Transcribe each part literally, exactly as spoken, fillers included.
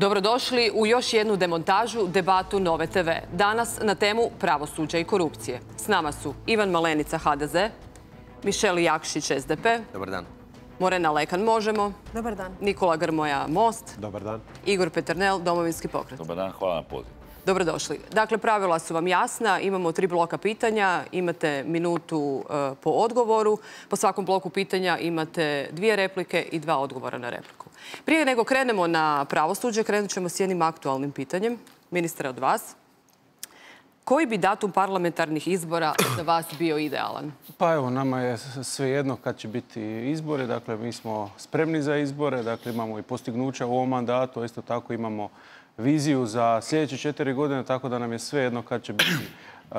Dobrodošli u još jednu demontažu, debatu Nove te ve. Danas na temu pravosuđa i korupcije. S nama su Ivan Malenica, ha de ze, Mišel Jakšić, es de pe. Dobar dan. Morena Lekan, Možemo. Dobar dan. Nikola Grmoja, Most. Dobar dan. Igor Peternel, Domovinski pokret. Dobar dan, hvala na pozivu. Dobrodošli. Dakle, pravila su vam jasna. Imamo tri bloka pitanja. Imate minutu po odgovoru. Po svakom bloku pitanja imate dvije replike i dva odgovora na repliku. Prije nego krenemo na pravosuđe, krenut ćemo s jednim aktualnim pitanjem. Ministre, od vas. Koji bi datum parlamentarnih izbora za vas bio idealan? Pa evo, nama je svejedno kad će biti izbori. Dakle, mi smo spremni za izbore. Dakle, imamo i postignuća u ovom mandatu, a isto tako imamo viziju za sljedeće četiri godine, tako da nam je svejedno kad će biti uh,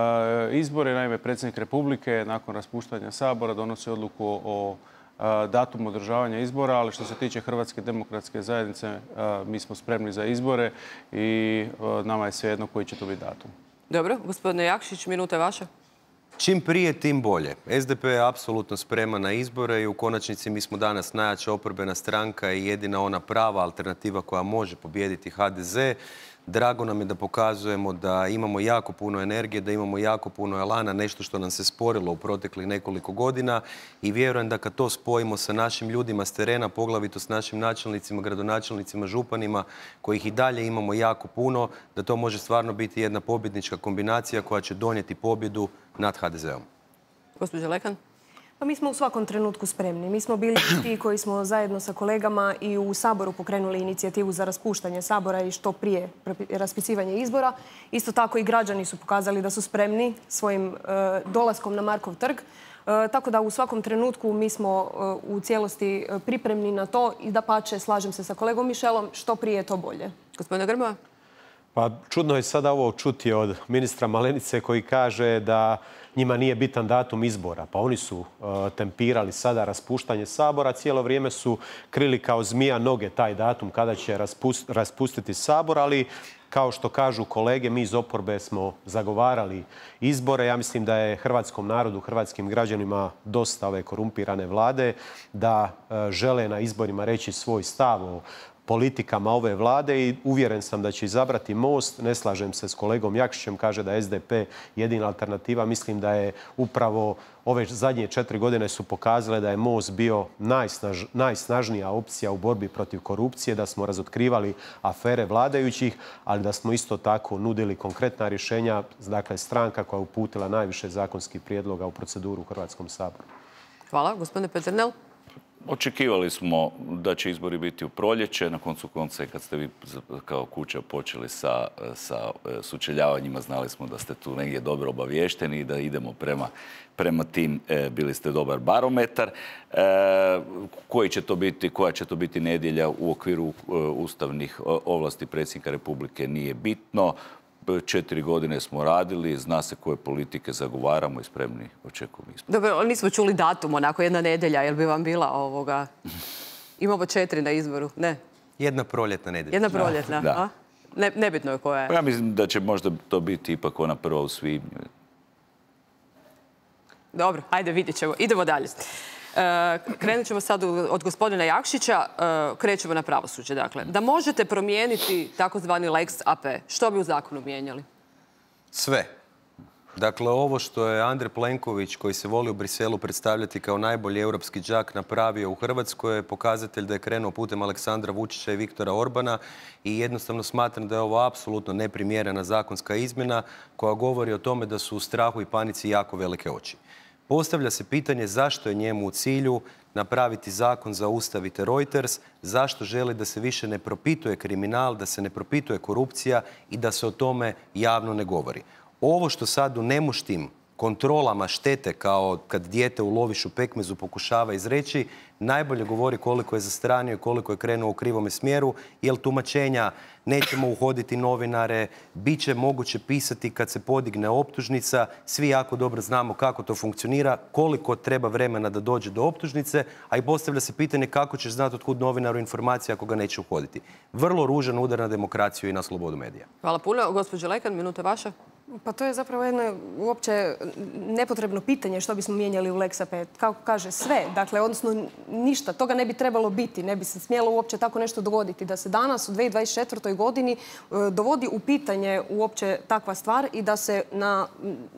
izbori. Naime, predsjednik Republike nakon raspuštanja Sabora donosi odluku o uh, datumu održavanja izbora, ali što se tiče Hrvatske demokratske zajednice, uh, mi smo spremni za izbore i uh, nama je svejedno koji će to biti datum. Dobro, gospodine Jakšić, minuta je vaša. Čim prije, tim bolje. es de pe je apsolutno spreman na izbore i u konačnici mi smo danas najjača oporbena stranka i jedina ona prava alternativa koja može pobijediti ha de ze. Drago nam je da pokazujemo da imamo jako puno energije, da imamo jako puno elana, nešto što nam se sporilo u proteklih nekoliko godina i vjerujem da kad to spojimo sa našim ljudima s terena, poglavito s našim načelnicima, gradonačelnicima, županima, kojih i dalje imamo jako puno, da to može stvarno biti jedna pobjednička kombinacija koja će donijeti pobjedu nad ha de zeom. Gospođa Lekan? Pa mi smo u svakom trenutku spremni. Mi smo bili ti koji smo zajedno sa kolegama i u Saboru pokrenuli inicijativu za raspuštanje Sabora i što prije raspisivanje izbora. Isto tako i građani su pokazali da su spremni svojim uh, dolaskom na Markov trg. Uh, tako da u svakom trenutku mi smo uh, u cijelosti pripremni na to i dapače, slažem se sa kolegom Mišelom, što prije to bolje. Gospodine Grmoja? Pa čudno je sada ovo čuti od ministra Malenice koji kaže da njima nije bitan datum izbora. Pa oni su uh, tempirali sada raspuštanje Sabora. Cijelo vrijeme su krili kao zmija noge taj datum kada će raspust, raspustiti Sabor, ali kao što kažu kolege, mi iz oporbe smo zagovarali izbore. Ja mislim da je hrvatskom narodu, hrvatskim građanima dosta ove korumpirane vlade, da uh, žele na izborima reći svoj stav o politikama ove vlade i uvjeren sam da će izabrati Most. Ne slažem se s kolegom Jakšićem, kaže da je es de pe jedina alternativa. Mislim da je upravo ove zadnje četiri godine su pokazale da je Most bio najsnaž, najsnažnija opcija u borbi protiv korupcije, da smo razotkrivali afere vladajućih, ali da smo isto tako nudili konkretna rješenja, dakle stranka koja je uputila najviše zakonskih prijedloga u proceduru u Hrvatskom saboru. Hvala. Gospodine Peternel? Očekivali smo da će izbori biti u proljeće. Na koncu konca, kad ste vi kao kuća počeli sa, sa sučeljavanjima, znali smo da ste tu negdje dobro obavješteni i da idemo prema, prema tim. E, bili ste dobar barometar. E, koji će to biti, koja će to biti nedjelja u okviru e, ustavnih ovlasti predsjednika Republike nije bitno. Četiri godine smo radili, zna se koje politike zagovaramo i spremni očekujemo izbor. Dobro, nismo čuli datum, onako jedna nedjelja, jel bi vam bila ovoga? Imamo četiri na izboru, ne? Jedna proljetna nedjelja. Jedna proljetna, da. A? Ne, nebitno je koja je. Pa ja mislim da će možda to biti ipak ona prva u svibnju. Dobro, ajde, vidjet ćemo. Idemo dalje. E, krenut ćemo sad od gospodina Jakšića, e, krećemo na pravosuđe. Dakle, da možete promijeniti takozvani lex a pe, što bi u zakonu mijenjali? Sve. Dakle, ovo što je Andrej Plenković, koji se voli u Briselu predstavljati kao najbolji europski đak, napravio u Hrvatskoj, je pokazatelj da je krenuo putem Aleksandra Vučića i Viktora Orbana i jednostavno smatram da je ovo apsolutno neprimjerena zakonska izmjena koja govori o tome da su u strahu i panici jako velike oči. Postavlja se pitanje zašto je njemu u cilju napraviti zakon zaustavite Reuters, zašto želi da se više ne propituje kriminal, da se ne propituje korupcija i da se o tome javno ne govori. Ovo što sad u nemuštim kontrolama štete kao kad dijete u lovišu pekmezu pokušava izreći, najbolje govori koliko je zastranio i koliko je krenuo u krivome smjeru, jer tumačenja nećemo uhoditi novinare, bit će moguće pisati kad se podigne optužnica, svi jako dobro znamo kako to funkcionira, koliko treba vremena da dođe do optužnice, a i postavlja se pitanje kako ćeš znati otkud novinaru informacija ako ga neće uhoditi. Vrlo ružan udar na demokraciju i na slobodu medija. Hvala puno. Gospođo Lekan, minuta vaša. Pa to je zapravo jedno uopće nepotrebno pitanje što bismo mijenjali u Lex A P. Kako kaže, sve. Dakle, odnosno ništa. Toga ne bi trebalo biti. Ne bi se smjelo uopće tako nešto dogoditi. Da se danas u dvije tisuće dvadeset četvrtoj godini dovodi u pitanje uopće takva stvar i da se na,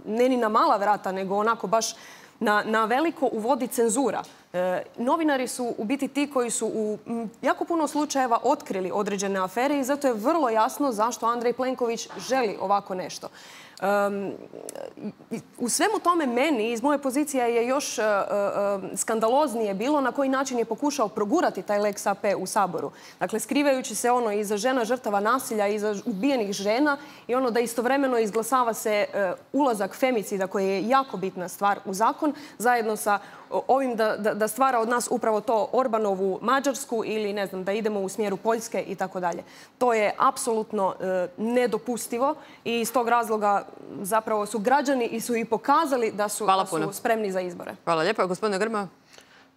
ne ni na mala vrata, nego onako baš na, na veliko uvodi cenzura. E, novinari su u biti ti koji su u jako puno slučajeva otkrili određene afere i zato je vrlo jasno zašto Andrej Plenković želi ovako nešto. Um, u svemu tome meni iz moje pozicije je još uh, uh, skandaloznije bilo na koji način je pokušao progurati taj Lex A P u Saboru. Dakle, skrivajući se ono iza žena žrtava nasilja, iza ubijenih žena i ono da istovremeno izglasava se uh, ulazak femicida koji je jako bitna stvar u zakon zajedno sa ovim da, da, da stvara od nas upravo to Orbanovu Mađarsku ili ne znam da idemo u smjeru Poljske i tako dalje. To je apsolutno e, nedopustivo i iz tog razloga zapravo su građani i su i pokazali da su, da su spremni za izbore. Hvala lijepa. Gospodine Grmoja.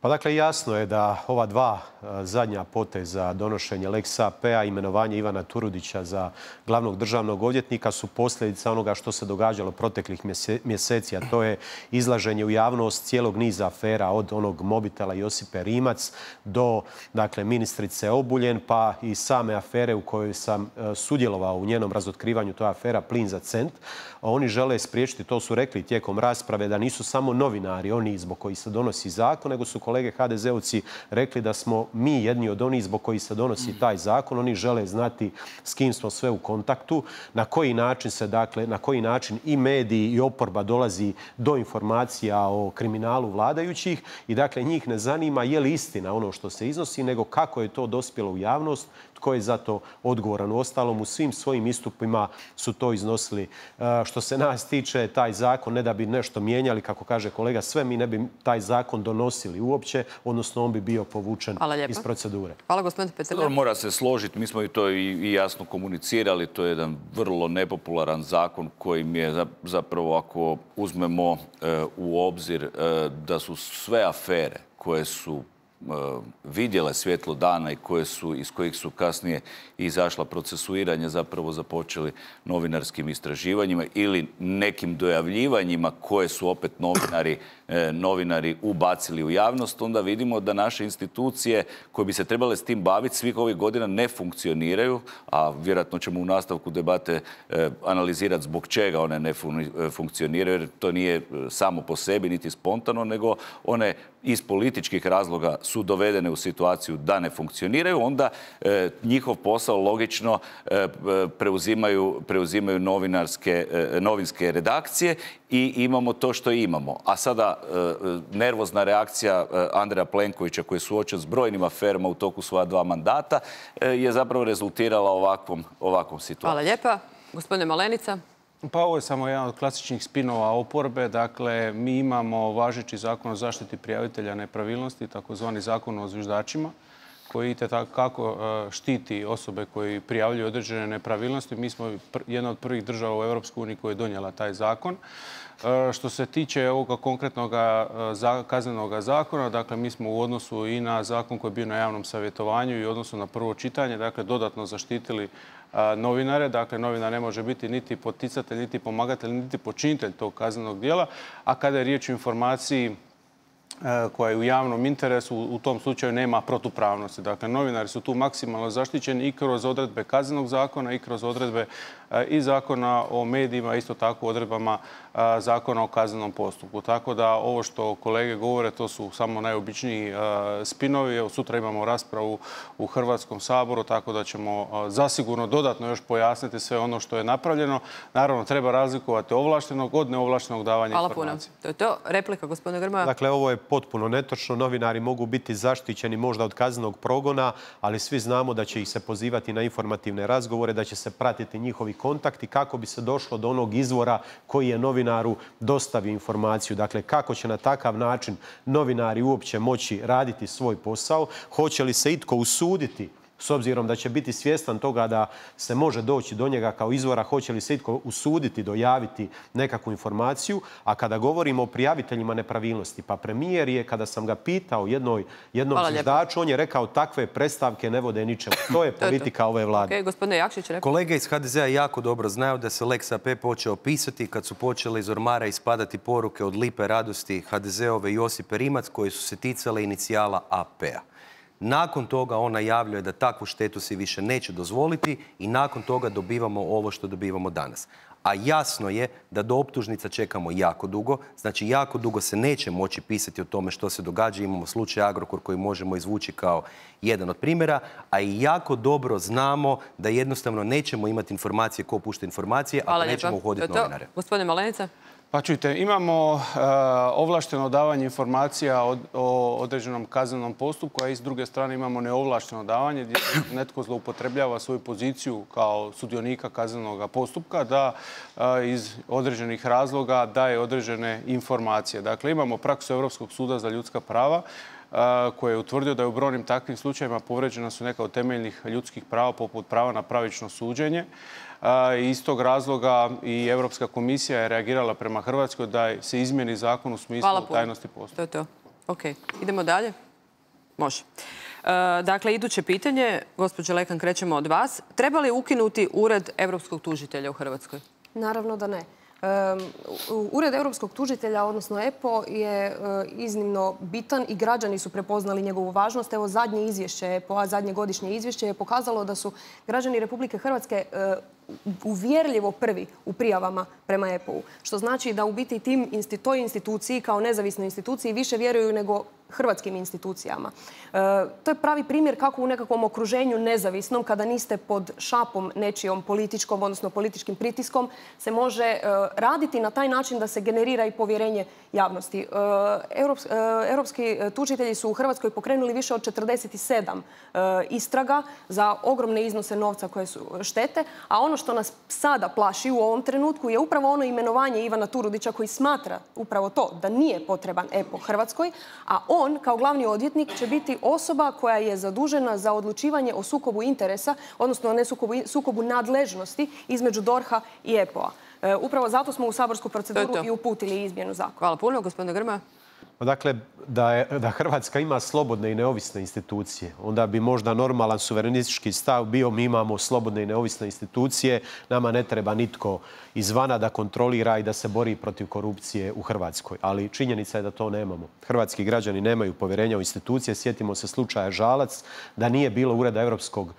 Pa dakle, jasno je da ova dva zadnja poteza donošenje Lex A P-a, imenovanje Ivana Turudića za glavnog državnog odvjetnika su posljedica onoga što se događalo proteklih mjeseci, a to je izlaženje u javnost cijelog niza afera od onog mobitela Josipe Rimac do dakle, ministrice Obuljen, pa i same afere u kojoj sam sudjelovao u njenom razotkrivanju, to je afera Plin za cent. Oni žele spriječiti, to su rekli tijekom rasprave, da nisu samo novinari oni zbog koji se donosi zakon, nego su kolege ha de zeovci rekli da smo mi jedni od onih zbog koji se donosi taj zakon. Oni žele znati s kim smo sve u kontaktu, na koji način se, dakle, na koji način i mediji i oporba dolazi do informacija o kriminalu vladajućih i dakle njih ne zanima je li istina ono što se iznosi, nego kako je to dospjelo u javnost, tko je za to odgovoran. Uostalom, u svim svojim istupima su to iznosili. Što se nas tiče, taj zakon, ne da bi nešto mijenjali, kako kaže kolega, sve mi ne bi taj zakon donosili uopće, odnosno on bi bio povučen iz procedure. Hvala, gospodine Petrlja. Mora se složiti, mi smo i to i jasno komunicirali, to je jedan vrlo nepopularan zakon kojim je zapravo, ako uzmemo u obzir da su sve afere koje su vidjele svjetlo dana i koje su, iz kojih su kasnije izašla procesuiranja, zapravo započeli novinarskim istraživanjima ili nekim dojavljivanjima koje su opet novinari, novinari ubacili u javnost, onda vidimo da naše institucije koje bi se trebale s tim baviti svih ovih godina ne funkcioniraju, a vjerojatno ćemo u nastavku debate analizirati zbog čega one ne funkcioniraju, jer to nije samo po sebi niti spontano, nego one iz političkih razloga su dovedene u situaciju da ne funkcioniraju, onda e, njihov posao logično e, preuzimaju, preuzimaju novinarske, e, novinske redakcije i imamo to što imamo. A sada e, nervozna reakcija e, Andreja Plenkovića koji je suočen s brojnim aferama u toku svoja dva mandata e, je zapravo rezultirala ovakvom, ovakvom situacijom. Hvala lijepa. Gospodine Malenica. Pa ovo je samo jedan od klasičnih spinova oporbe. Dakle, mi imamo važeći zakon o zaštiti prijavitelja nepravilnosti, takozvani zakon o zviždačima, koji itekako štiti osobe koji prijavljuju određene nepravilnosti. Mi smo jedna od prvih država u Europskoj uniji koja je donijela taj zakon. Što se tiče ovoga konkretnog kaznenog zakona, dakle, mi smo u odnosu i na zakon koji je bio na javnom savjetovanju i u odnosu na prvo čitanje, dakle, dodatno zaštitili novinare. Dakle, novinar ne može biti niti poticatelj, niti pomagatelj, niti počinitelj tog kaznenog djela. A kada je riječ o informaciji koja je u javnom interesu, u tom slučaju nema protupravnosti. Dakle, novinari su tu maksimalno zaštićeni i kroz odredbe kaznenog zakona i kroz odredbe i zakona o medijima, isto tako odredbama zakona o kaznenom postupku. Tako da ovo što kolege govore, to su samo najobičniji spinovi. Evo, sutra imamo raspravu u Hrvatskom saboru, tako da ćemo zasigurno dodatno još pojasniti sve ono što je napravljeno. Naravno, treba razlikovati ovlaštenog od neovlaštenog davanja Hvala informacije. Puno. To je to. Replika, gospodine Grmoja. Dakle, ovo je potpuno netočno. Novinari mogu biti zaštićeni možda od kaznenog progona, ali svi znamo da će ih se pozivati na informativne razgovore, da će se pratiti njihovi kontakti kako bi se došlo do onog izvora koji je novinaru dostavio informaciju. Dakle, kako će na takav način novinari uopće moći raditi svoj posao? Hoće li se itko usuditi s obzirom da će biti svjestan toga da se može doći do njega kao izvora, hoće li se itko usuditi dojaviti nekakvu informaciju. A kada govorimo o prijaviteljima nepravilnosti, pa premijer je, kada sam ga pitao jednoj, jednom zviždaču, on je rekao takve predstavke ne vode ničemu. To je politika ove vlade. Okay, gospodine Jakšić, rekao. Kolege iz ha de zea jako dobro znaju da se Lex A P počeo pisati kad su počele iz ormara ispadati poruke od Lipe Radosti ha de zeove Josipe Rimac koje su se ticale inicijala A P-a. Nakon toga on najavljuje da takvu štetu si više neće dozvoliti i nakon toga dobivamo ovo što dobivamo danas. A jasno je da do optužnica čekamo jako dugo, znači jako dugo se neće moći pisati o tome što se događa. Imamo slučaj Agrokor koji možemo izvući kao jedan od primjera, a i jako dobro znamo da jednostavno nećemo imati informacije ko pušta informacije, ako nećemo uhoditi novinare. Gospodine Malenica. Pa čujte, imamo uh, ovlašteno davanje informacija o, o određenom kaznenom postupku, a i s druge strane imamo neovlašteno davanje gdje netko zloupotrebljava svoju poziciju kao sudionika kaznenog postupka da uh, iz određenih razloga daje određene informacije. Dakle, imamo praksu Europskog suda za ljudska prava uh, koji je utvrdio da je u brojnim takvim slučajevima povređena su neka od temeljnih ljudskih prava poput prava na pravično suđenje. Iz tog razloga i Europska komisija je reagirala prema Hrvatskoj da se izmijeni zakon u smislu tajnosti postupka. To je to. Ok. Idemo dalje? Može. Dakle, iduće pitanje, gospođo Lekan, krećemo od vas. Treba li ukinuti Ured europskog tužitelja u Hrvatskoj? Naravno da ne. Ured europskog tužitelja, odnosno E P O, je iznimno bitan i građani su prepoznali njegovu važnost. Evo, zadnje izvješće E P O-a, zadnje godišnje izvješće je pokazalo da su građani Republike Hrvatske uvjerljivo prvi u prijavama prema E P O-u. Što znači da u biti tim, toj instituciji kao nezavisnoj instituciji više vjeruju nego hrvatskim institucijama. E, to je pravi primjer kako u nekakvom okruženju nezavisnom, kada niste pod šapom nečijom političkom, odnosno političkim pritiskom, se može e, raditi na taj način da se generira i povjerenje javnosti. E, Europs, e, europski tužitelji su u Hrvatskoj pokrenuli više od četrdeset sedam e, istraga za ogromne iznose novca koje su štete, a ono što nas sada plaši u ovom trenutku je upravo ono imenovanje Ivana Turudića koji smatra upravo to, da nije potreban E P O Hrvatskoj, a on kao glavni odvjetnik će biti osoba koja je zadužena za odlučivanje o sukobu interesa, odnosno ne sukobu, sukobu nadležnosti između D O R H-a i E P O-a. E, upravo zato smo u saborsku proceduru to to. i uputili izmjenu zakona. Hvala puno, gospodine Grmoja. Dakle, da, je, da Hrvatska ima slobodne i neovisne institucije, onda bi možda normalan suverenistički stav bio mi imamo slobodne i neovisne institucije, nama ne treba nitko izvana da kontrolira i da se bori protiv korupcije u Hrvatskoj. Ali činjenica je da to nemamo. Hrvatski građani nemaju povjerenja u institucije. Sjetimo se slučaja Žalac, da nije bilo Ureda europskog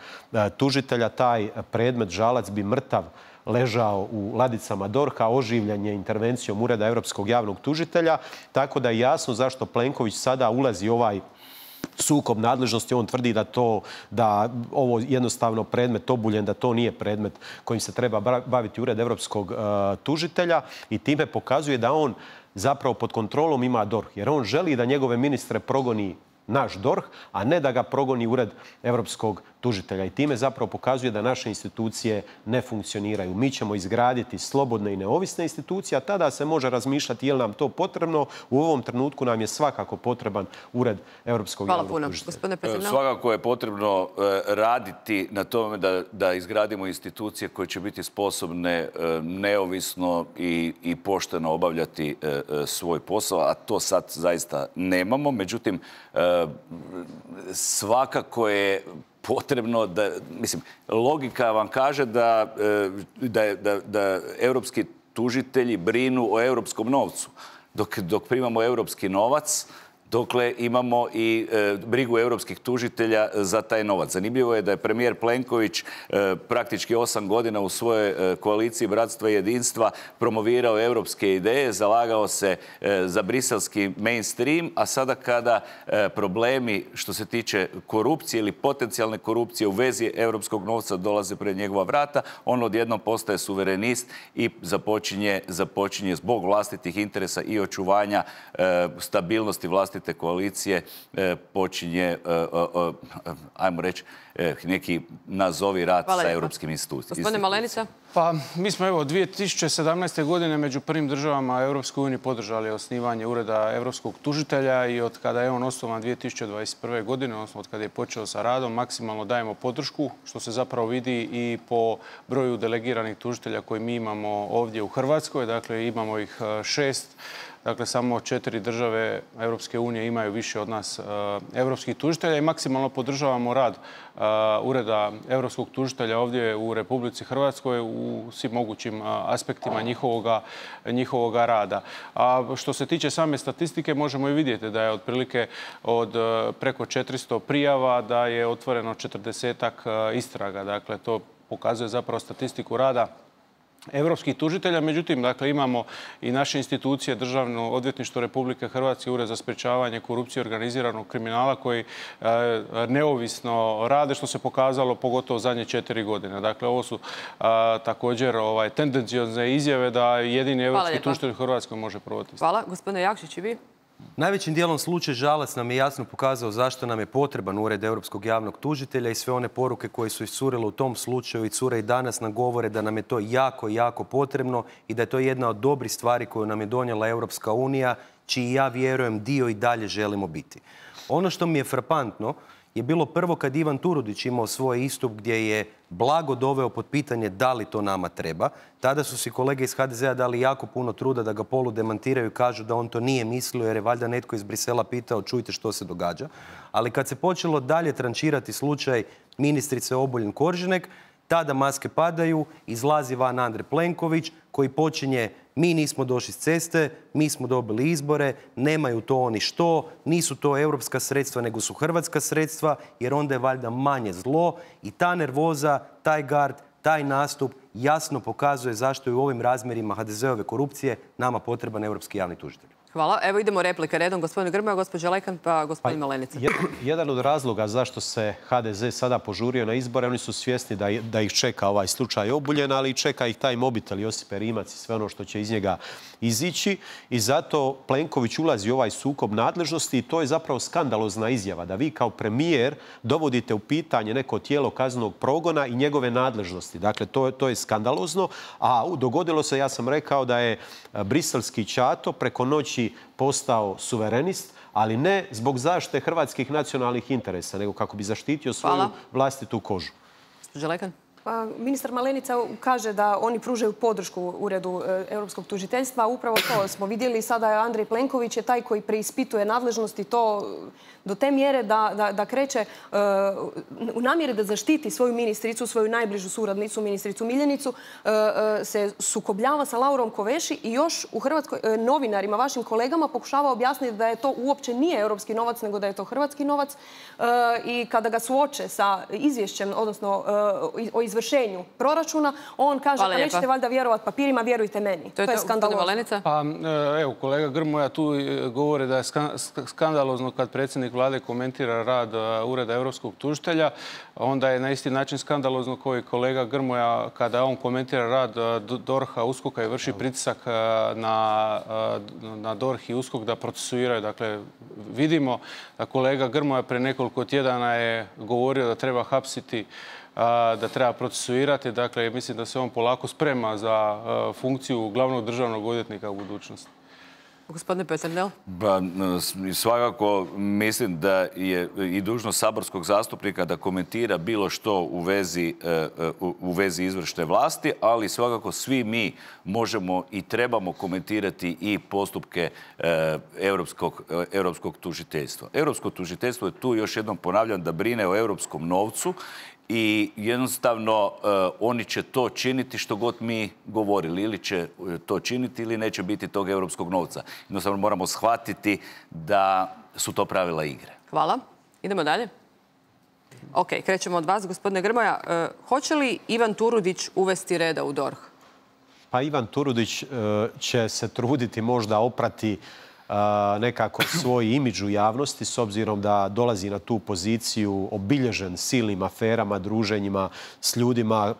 tužitelja, taj predmet Žalac bi mrtav ležao u ladicama D O R H-a, oživljen je intervencijom Ureda europskog javnog tužitelja, tako da je jasno zašto Plenković sada ulazi u ovaj sukob nadležnosti. On tvrdi da to, da ovo jednostavno predmet Obuljen, da to nije predmet kojim se treba baviti Ured europskog uh, tužitelja i time pokazuje da on zapravo pod kontrolom ima D O R H, jer on želi da njegove ministre progoni naš D O R H, a ne da ga progoni Ured europskog tužitelja. I time zapravo pokazuje da naše institucije ne funkcioniraju. Mi ćemo izgraditi slobodne i neovisne institucije, a tada se može razmišljati je li nam to potrebno. U ovom trenutku nam je svakako potreban Ured europskog javnog tužitelja. Hvala puno. Svakako je potrebno raditi na tome da, da izgradimo institucije koje će biti sposobne neovisno i, i pošteno obavljati svoj posao, a to sad zaista nemamo. Međutim, svakako je potrebno da, mislim, logika vam kaže da, da, da, da europski tužitelji brinu o europskom novcu. Dok, dok primamo europski novac, dokle imamo i e, brigu europskih tužitelja za taj novac. Zanimljivo je da je premijer Plenković e, praktički osam godina u svojoj e, koaliciji Bratstva i jedinstva promovirao europske ideje, zalagao se e, za briselski mainstream, a sada kada e, problemi što se tiče korupcije ili potencijalne korupcije u vezi europskog novca dolaze pred njegova vrata, on odjednom postaje suverenist i započinje, započinje zbog vlastitih interesa i očuvanja e, stabilnosti vlastitih vlastite koalicije počinje, ajmo reći, neki nazovi rad sa europskim institucijama. Gospodine Malenica? Pa, mi smo evo dvije tisuće sedamnaeste. godine među prvim državama Europske unije podržali osnivanje Ureda europskog tužitelja i od kada je on osnovan dvije tisuće dvadeset prve. godine, odnosno od kada je počeo sa radom, maksimalno dajemo podršku, što se zapravo vidi i po broju delegiranih tužitelja koji mi imamo ovdje u Hrvatskoj. Dakle, imamo ih šest. Dakle, samo četiri države Europske unije imaju više od nas europskih tužitelja i maksimalno podržavamo rad Ureda europskog tužitelja ovdje u Republici Hrvatskoj u svim mogućim aspektima njihovoga, njihovoga rada. A što se tiče same statistike, možemo i vidjeti da je otprilike od preko četiristo prijava, da je otvoreno četrdesetak istraga. Dakle, to pokazuje zapravo statistiku rada europskih tužitelja. Međutim, dakle, imamo i naše institucije, Državno odvjetništvo Republike Hrvatske, Ured za sprječavanje korupcije i organiziranog kriminala koji e, neovisno rade, što se pokazalo pogotovo zadnje četiri godine. Dakle, ovo su a, također ovaj, tendenciozne izjave da jedini europski tužitelj u Hrvatskoj može provoditi. Hvala. Gospodine Jakšić, i vi? Najvećim dijelom slučaj Žalac nam je jasno pokazao zašto nam je potreban Ured europskog javnog tužitelja i sve one poruke koje su iscurile u tom slučaju i cure i danas nam govore da nam je to jako, jako potrebno i da je to jedna od dobrih stvari koju nam je donijela Europska unija, čiji ja vjerujem dio i dalje želimo biti. Ono što mi je frapantno je bilo prvo kad Ivan Turudić imao svoj istup gdje je blago doveo pod pitanje da li to nama treba. Tada su si kolege iz ha de zea dali jako puno truda da ga polu demantiraju i kažu da on to nije mislio jer je valjda netko iz Brisela pitao čujte što se događa. Ali kad se počelo dalje trančirati slučaj ministrice Obuljen Koržinek, tada maske padaju, izlazi van Andrej Plenković koji počinje mi nismo došli s ceste, mi smo dobili izbore, nemaju to oni što, nisu to europska sredstva nego su hrvatska sredstva jer onda je valjda manje zlo i ta nervoza, taj gard, taj nastup jasno pokazuje zašto je u ovim razmjerima ha de zeove korupcije nama potreban europski javni tužitelj. Hvala. Evo idemo replike redom. Gospodin Grmoja, gospođa Lekan, pa gospodin Malenica. Jedan od razloga zašto se ha de ze sada požurio na izbore, oni su svjesni da, da ih čeka ovaj slučaj Obuljen, ali čeka ih taj mobitel Josipe Rimac i sve ono što će iz njega izići. I zato Plenković ulazi u ovaj sukob nadležnosti i to je zapravo skandalozna izjava. Da vi kao premijer dovodite u pitanje neko tijelo kaznenog progona i njegove nadležnosti. Dakle, to, to je skandalozno. A dogodilo se, ja sam rekao da je briselski ćato preko noći postao suverenist, ali ne zbog zaštite hrvatskih nacionalnih interesa, nego kako bi zaštitio svoju Hvala. vlastitu kožu. Želekan? Pa, ministar Malenica kaže da oni pružaju podršku Uredu e, europskog tužiteljstva. Upravo to smo vidjeli. Sada je Andrej Plenković je taj koji preispituje nadležnosti to do te mjere da, da, da kreće e, u namjeri da zaštiti svoju ministricu, svoju najbližu suradnicu, ministricu Miljenicu, e, e, se sukobljava sa Laurom Koveši i još u Hrvatskoj e, novinarima, vašim kolegama, pokušava objasniti da je to uopće nije europski novac, nego da je to hrvatski novac. E, I kada ga suoče sa izvješćem, odnosno e, o izvršenju proračuna, on kaže da nećete valjda vjerovati papirima, vjerujte meni. To je, to je skandalozno. Pa, evo, kolega Grmoja tu govori da je skandalozno kad predsjednik vlade komentira rad Ureda europskog tužitelja. Onda je na isti način skandalozno kao i kolega Grmoja kada on komentira rad dorha, uskoka i vrši pritisak na, na dorh i uskok da procesuiraju. Dakle, vidimo da kolega Grmoja pre nekoliko tjedana je govorio da treba hapsiti, da treba procesuirati. Dakle, mislim da se on polako sprema za funkciju glavnog državnog odvjetnika u budućnosti. Gospodine Peternel? Ba, svakako mislim da je i dužnost saborskog zastupnika da komentira bilo što u vezi, u vezi izvršne vlasti, ali svakako svi mi možemo i trebamo komentirati i postupke europskog, europskog tužiteljstva. Europsko tužiteljstvo je tu, još jednom ponavljam, da brine o europskom novcu i jednostavno uh, oni će to činiti što god mi govorili. Ili će to činiti ili neće biti tog europskog novca. Jednostavno moramo shvatiti da su to pravila igre. Hvala. Idemo dalje. Ok, krećemo od vas, gospodine Grmoja. Uh, hoće li Ivan Turudić uvesti reda u dorh? Pa Ivan Turudić uh, će se truditi možda oprati nekako svoj imidž u javnosti s obzirom da dolazi na tu poziciju obilježen silnim aferama, druženjima s ljudima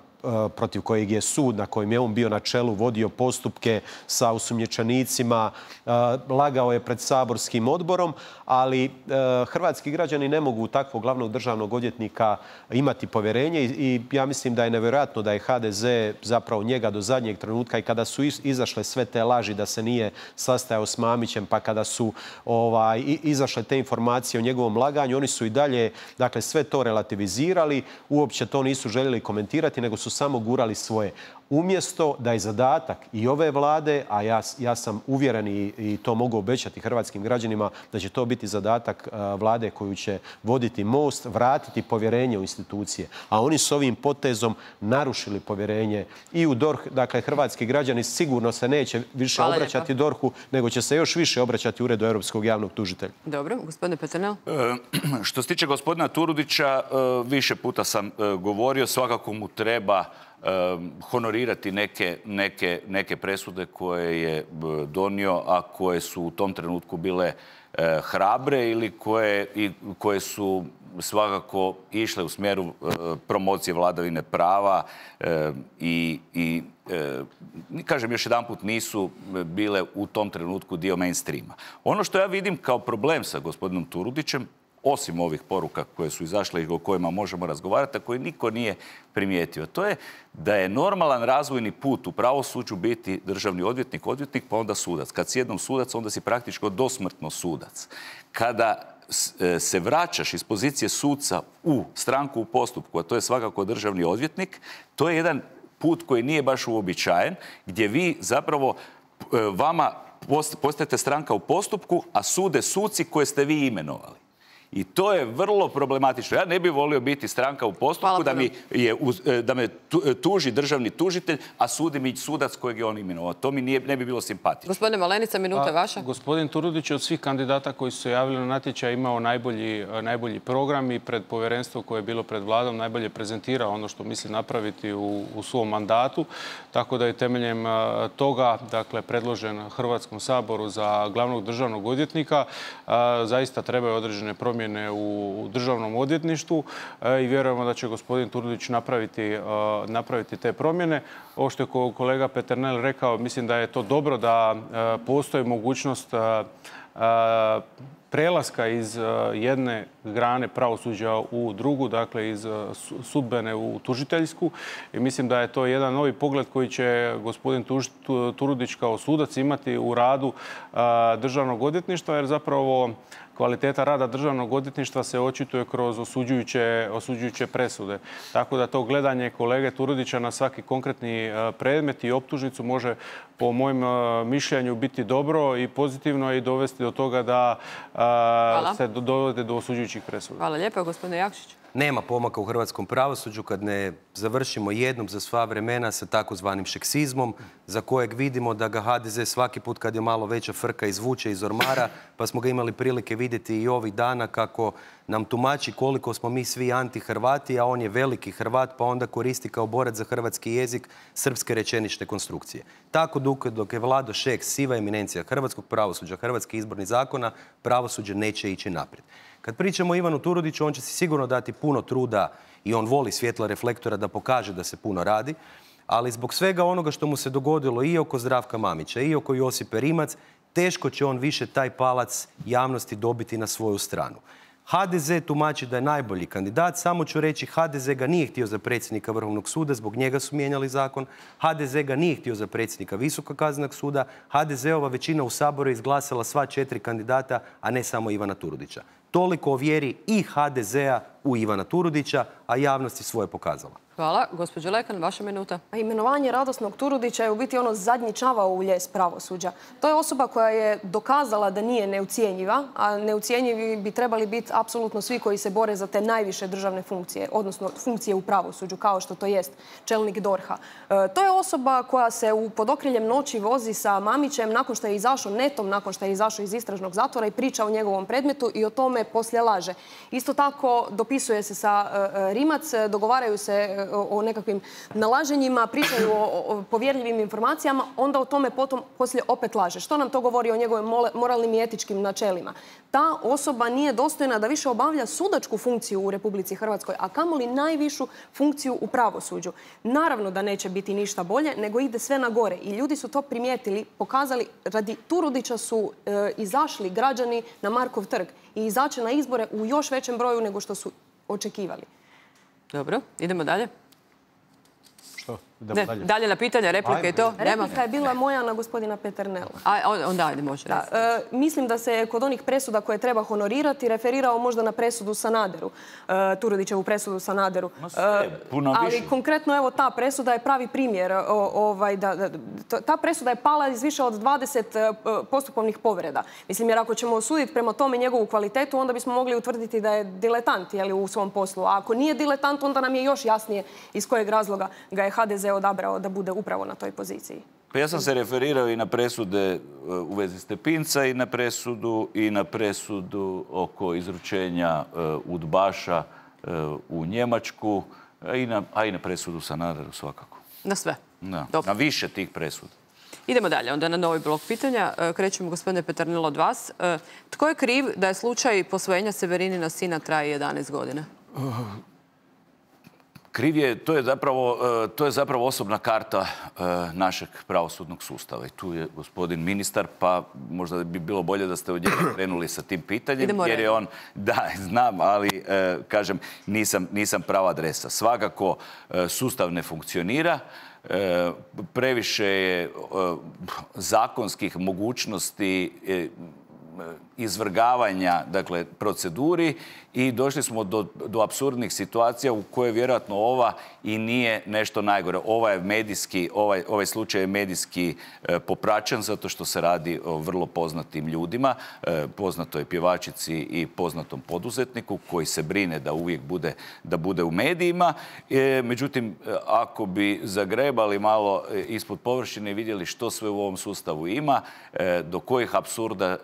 protiv kojeg je sud, na kojem je on bio na čelu, vodio postupke sa osumnjičenicima, lagao je pred saborskim odborom, ali hrvatski građani ne mogu takvog glavnog državnog odvjetnika imati povjerenje i ja mislim da je nevjerojatno da je ha de ze zapravo njega do zadnjeg trenutka i kada su izašle sve te laži da se nije sastajao s Mamićem, pa kada su ovaj, izašle te informacije o njegovom laganju, oni su i dalje, dakle, sve to relativizirali, uopće to nisu željeli komentirati, nego su samo gurali svoje. Umjesto da je zadatak i ove vlade, a ja, ja sam uvjeren i, i to mogu obećati hrvatskim građanima, da će to biti zadatak uh, vlade koju će voditi Most, vratiti povjerenje u institucije. A oni s ovim potezom narušili povjerenje i u D O R H. Dakle, hrvatski građani sigurno se neće više Hvala obraćati D O R H-u, nego će se još više obraćati Uredu Europskog javnog tužitelja. Dobro, gospodine Peternel. E, što se tiče gospodina Turudića, e, više puta sam e, govorio, svakako mu treba honorirati neke, neke, neke presude koje je donio, a koje su u tom trenutku bile e, hrabre ili koje, i, koje su svakako išle u smjeru e, promocije vladavine prava e, i, i e, kažem još jedanput, nisu bile u tom trenutku dio mainstreama. Ono što ja vidim kao problem sa gospodinom Turudićem, osim ovih poruka koje su izašle i o kojima možemo razgovarati, a koje niko nije primijetio, to je da je normalan razvojni put u pravosuđu biti državni odvjetnik, odvjetnik, pa onda sudac. Kad si jednom sudac, onda si praktički dosmrtno sudac. Kada se vraćaš iz pozicije suca u stranku u postupku, a to je svakako državni odvjetnik, to je jedan put koji nije baš uobičajen, gdje vi zapravo vama postajete stranka u postupku, a sude suci koje ste vi imenovali. I to je vrlo problematično. Ja ne bih volio biti stranka u postupku da, mi je, da me tuži državni tužitelj, a sudi mi sudac kojeg je on imenovao. To mi nije, ne bi bilo simpatično. Gospodine Malenica, minuta vaša. Gospodin Turudić je od svih kandidata koji su se javili na natječaj imao najbolji, najbolji program i pred povjerenstvo koje je bilo pred vladom najbolje prezentirao ono što misli napraviti u, u svom mandatu. Tako da je temeljem toga, dakle, predložen Hrvatskom saboru za glavnog državnog odvjetnika. Zaista trebaju određene promjene u državnom odvjetništvu i vjerujemo da će gospodin Turudić napraviti, napraviti te promjene. Ovo što je kolega Peternel rekao, mislim da je to dobro da postoji mogućnost prelaska iz jedne grane pravosuđa u drugu, dakle iz sudbene u tužiteljsku. I mislim da je to jedan novi pogled koji će gospodin Turudić kao sudac imati u radu državnog odvjetništva, jer zapravo kvaliteta rada državnog odvjetništva se očituje kroz osuđujuće, osuđujuće presude. Tako da to gledanje kolege Turudića na svaki konkretni predmet i optužnicu može po mojem mišljenju biti dobro i pozitivno i dovesti do toga da Hvala. se dovede do osuđujućih presuda. Hvala lijepo, gospodine Jakšić. Nema pomaka u hrvatskom pravosuđu kad ne završimo jednom za sva vremena sa takozvanim šeksizmom, za kojeg vidimo da ga ha de ze svaki put kad je malo veća frka izvuče iz ormara, pa smo ga imali prilike vidjeti i ovih dana kako nam tumači koliko smo mi svi anti-Hrvati, a on je veliki Hrvat, pa onda koristi kao borac za hrvatski jezik srpske rečenične konstrukcije. Tako dok je Vlado Šeks siva eminencija hrvatskog pravosuđa, hrvatskih izbornih zakona, pravosuđe neće ići naprijed. Kad pričamo o Ivanu Turudiću, on će si sigurno dati puno truda i on voli svjetla reflektora da pokaže da se puno radi, ali zbog svega onoga što mu se dogodilo i oko Zdravka Mamića i oko Josipe Rimac, teško će on više taj palac javnosti dobiti na svoju stranu. ha de ze tumači da je najbolji kandidat, samo ću reći ha de ze ga nije htio za predsjednika Vrhovnog suda, zbog njega su mijenjali zakon, ha de ze ga nije htio za predsjednika Visokog kaznenog suda, ha de zeova većina u Saboru je izglasala sva četiri kandidata, a ne samo Ivana Turudića. Toliko o vjeri i ha de zea u Ivana Turudića, a javnost je svoje pokazala. Hvala. Gospođo Lekan, vaša minuta. Imenovanje radosnog Turudića je u biti ono zadnji čavao u lijes pravosuđa. To je osoba koja je dokazala da nije neucijenjiva, a neucijenjivi bi trebali biti apsolutno svi koji se bore za te najviše državne funkcije, odnosno funkcije u pravosuđu, kao što to jest čelnik D O R H-a. E, to je osoba koja se u pod okriljem noći vozi sa Mamićem nakon što je izašao netom, nakon što je izašao iz istražnog zatvora i priča o njegovom predmetu i o tome poslije laže. Isto tako dopisuje se sa e, Rimac, dogovaraju se o nekakvim nalaženjima, pričaju o povjerljivim informacijama, onda o tome potom poslije opet laže. Što nam to govori o njegovim moralnim i etičkim načelima? ta osoba nije dostojna da više obavlja sudačku funkciju u Republici Hrvatskoj, a kamoli najvišu funkciju u pravosuđu. Naravno da neće biti ništa bolje, nego ide sve na gore. I ljudi su to primijetili, pokazali, radi Turudića su e, izašli građani na Markov trg i izaći na izbore u još većem broju nego što su očekivali. Dobro, idemo dalje. Što? Ne, Idemo dalje. dalje na pitanje, replike i to? Nema. Replika je bila moja na gospodina Peternela. A, onda ajde, može. Da, e, mislim da se kod onih presuda koje treba honorirati referirao možda na presudu Sanaderu, e, Turudićevu presudu Sanaderu. sve, puno ali više. konkretno evo ta presuda je pravi primjer. O, ovaj, da, da, ta presuda je pala iz više od dvadeset e, postupovnih povreda. Mislim, jer ako ćemo osuditi prema tome njegovu kvalitetu, onda bismo mogli utvrditi da je diletant jeli, u svom poslu. A ako nije diletant, onda nam je još jasnije iz kojeg razloga ga je ha de ze odabrao da bude upravo na toj poziciji. Pa ja sam se referirao i na presude u vezi Stepinca i na presudu i na presudu oko izručenja udbaša u Njemačku, a i na, a i na presudu Sanaderu svakako. Na sve? Da, na više tih presuda. Idemo dalje, onda na novi blok pitanja. Krećemo, gospodine Peternel, od vas. Tko je kriv da je slučaj posvojenja Severinina sina traje jedanaest godina? Kriv je, to je zapravo, to je zapravo osobna karta našeg pravosudnog sustava. I tu je gospodin ministar, pa možda bi bilo bolje da ste od njega krenuli sa tim pitanjem. Idemo jer je on, da, znam, ali kažem, nisam, nisam prava adresa. Svakako sustav ne funkcionira. Previše je zakonskih mogućnosti izvrgavanja, dakle, proceduri i došli smo do, do apsurdnih situacija u koje vjerojatno ova i nije nešto najgore. Ova je medijski, ovaj, ovaj slučaj je medijski e, popraćen zato što se radi o vrlo poznatim ljudima, e, poznatoj pjevačici i poznatom poduzetniku koji se brine da uvijek bude, da bude u medijima. E, međutim, ako bi zagrebali malo ispod površine i vidjeli što sve u ovom sustavu ima, e, do kojih apsurda e,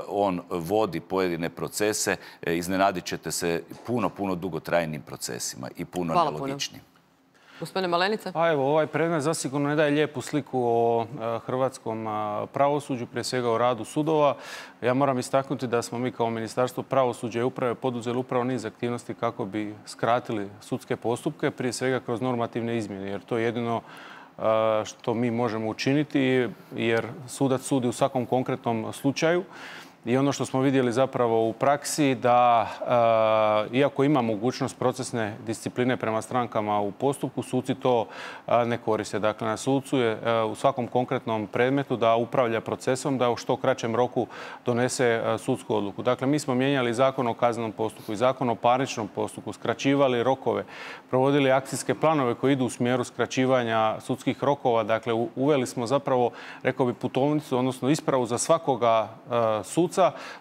on vodi pojedine procese, iznenadit ćete se puno, puno dugotrajnim procesima i puno nelogičnim. Gospodine Malenica? Pa evo, ovaj predmet zasigurno ne daje lijepu sliku o hrvatskom pravosuđu, prije svega o radu sudova. Ja moram istaknuti da smo mi kao Ministarstvo pravosuđa i uprave poduzeli upravo niz aktivnosti kako bi skratili sudske postupke, prije svega kroz normativne izmjene, jer to je jedino što mi možemo učiniti, jer sudac sudi u svakom konkretnom slučaju. I ono što smo vidjeli zapravo u praksi da, e, iako ima mogućnost procesne discipline prema strankama u postupku, suci to e, ne koriste. Dakle, na sucu je e, u svakom konkretnom predmetu da upravlja procesom, da u što kraćem roku donese e, sudsku odluku. Dakle, mi smo mijenjali zakon o kaznenom postupku i zakon o parničnom postupku, skraćivali rokove, provodili akcijske planove koji idu u smjeru skraćivanja sudskih rokova. Dakle, u, uveli smo zapravo, rekao bi, putovnicu, odnosno ispravu za svakoga e, suca,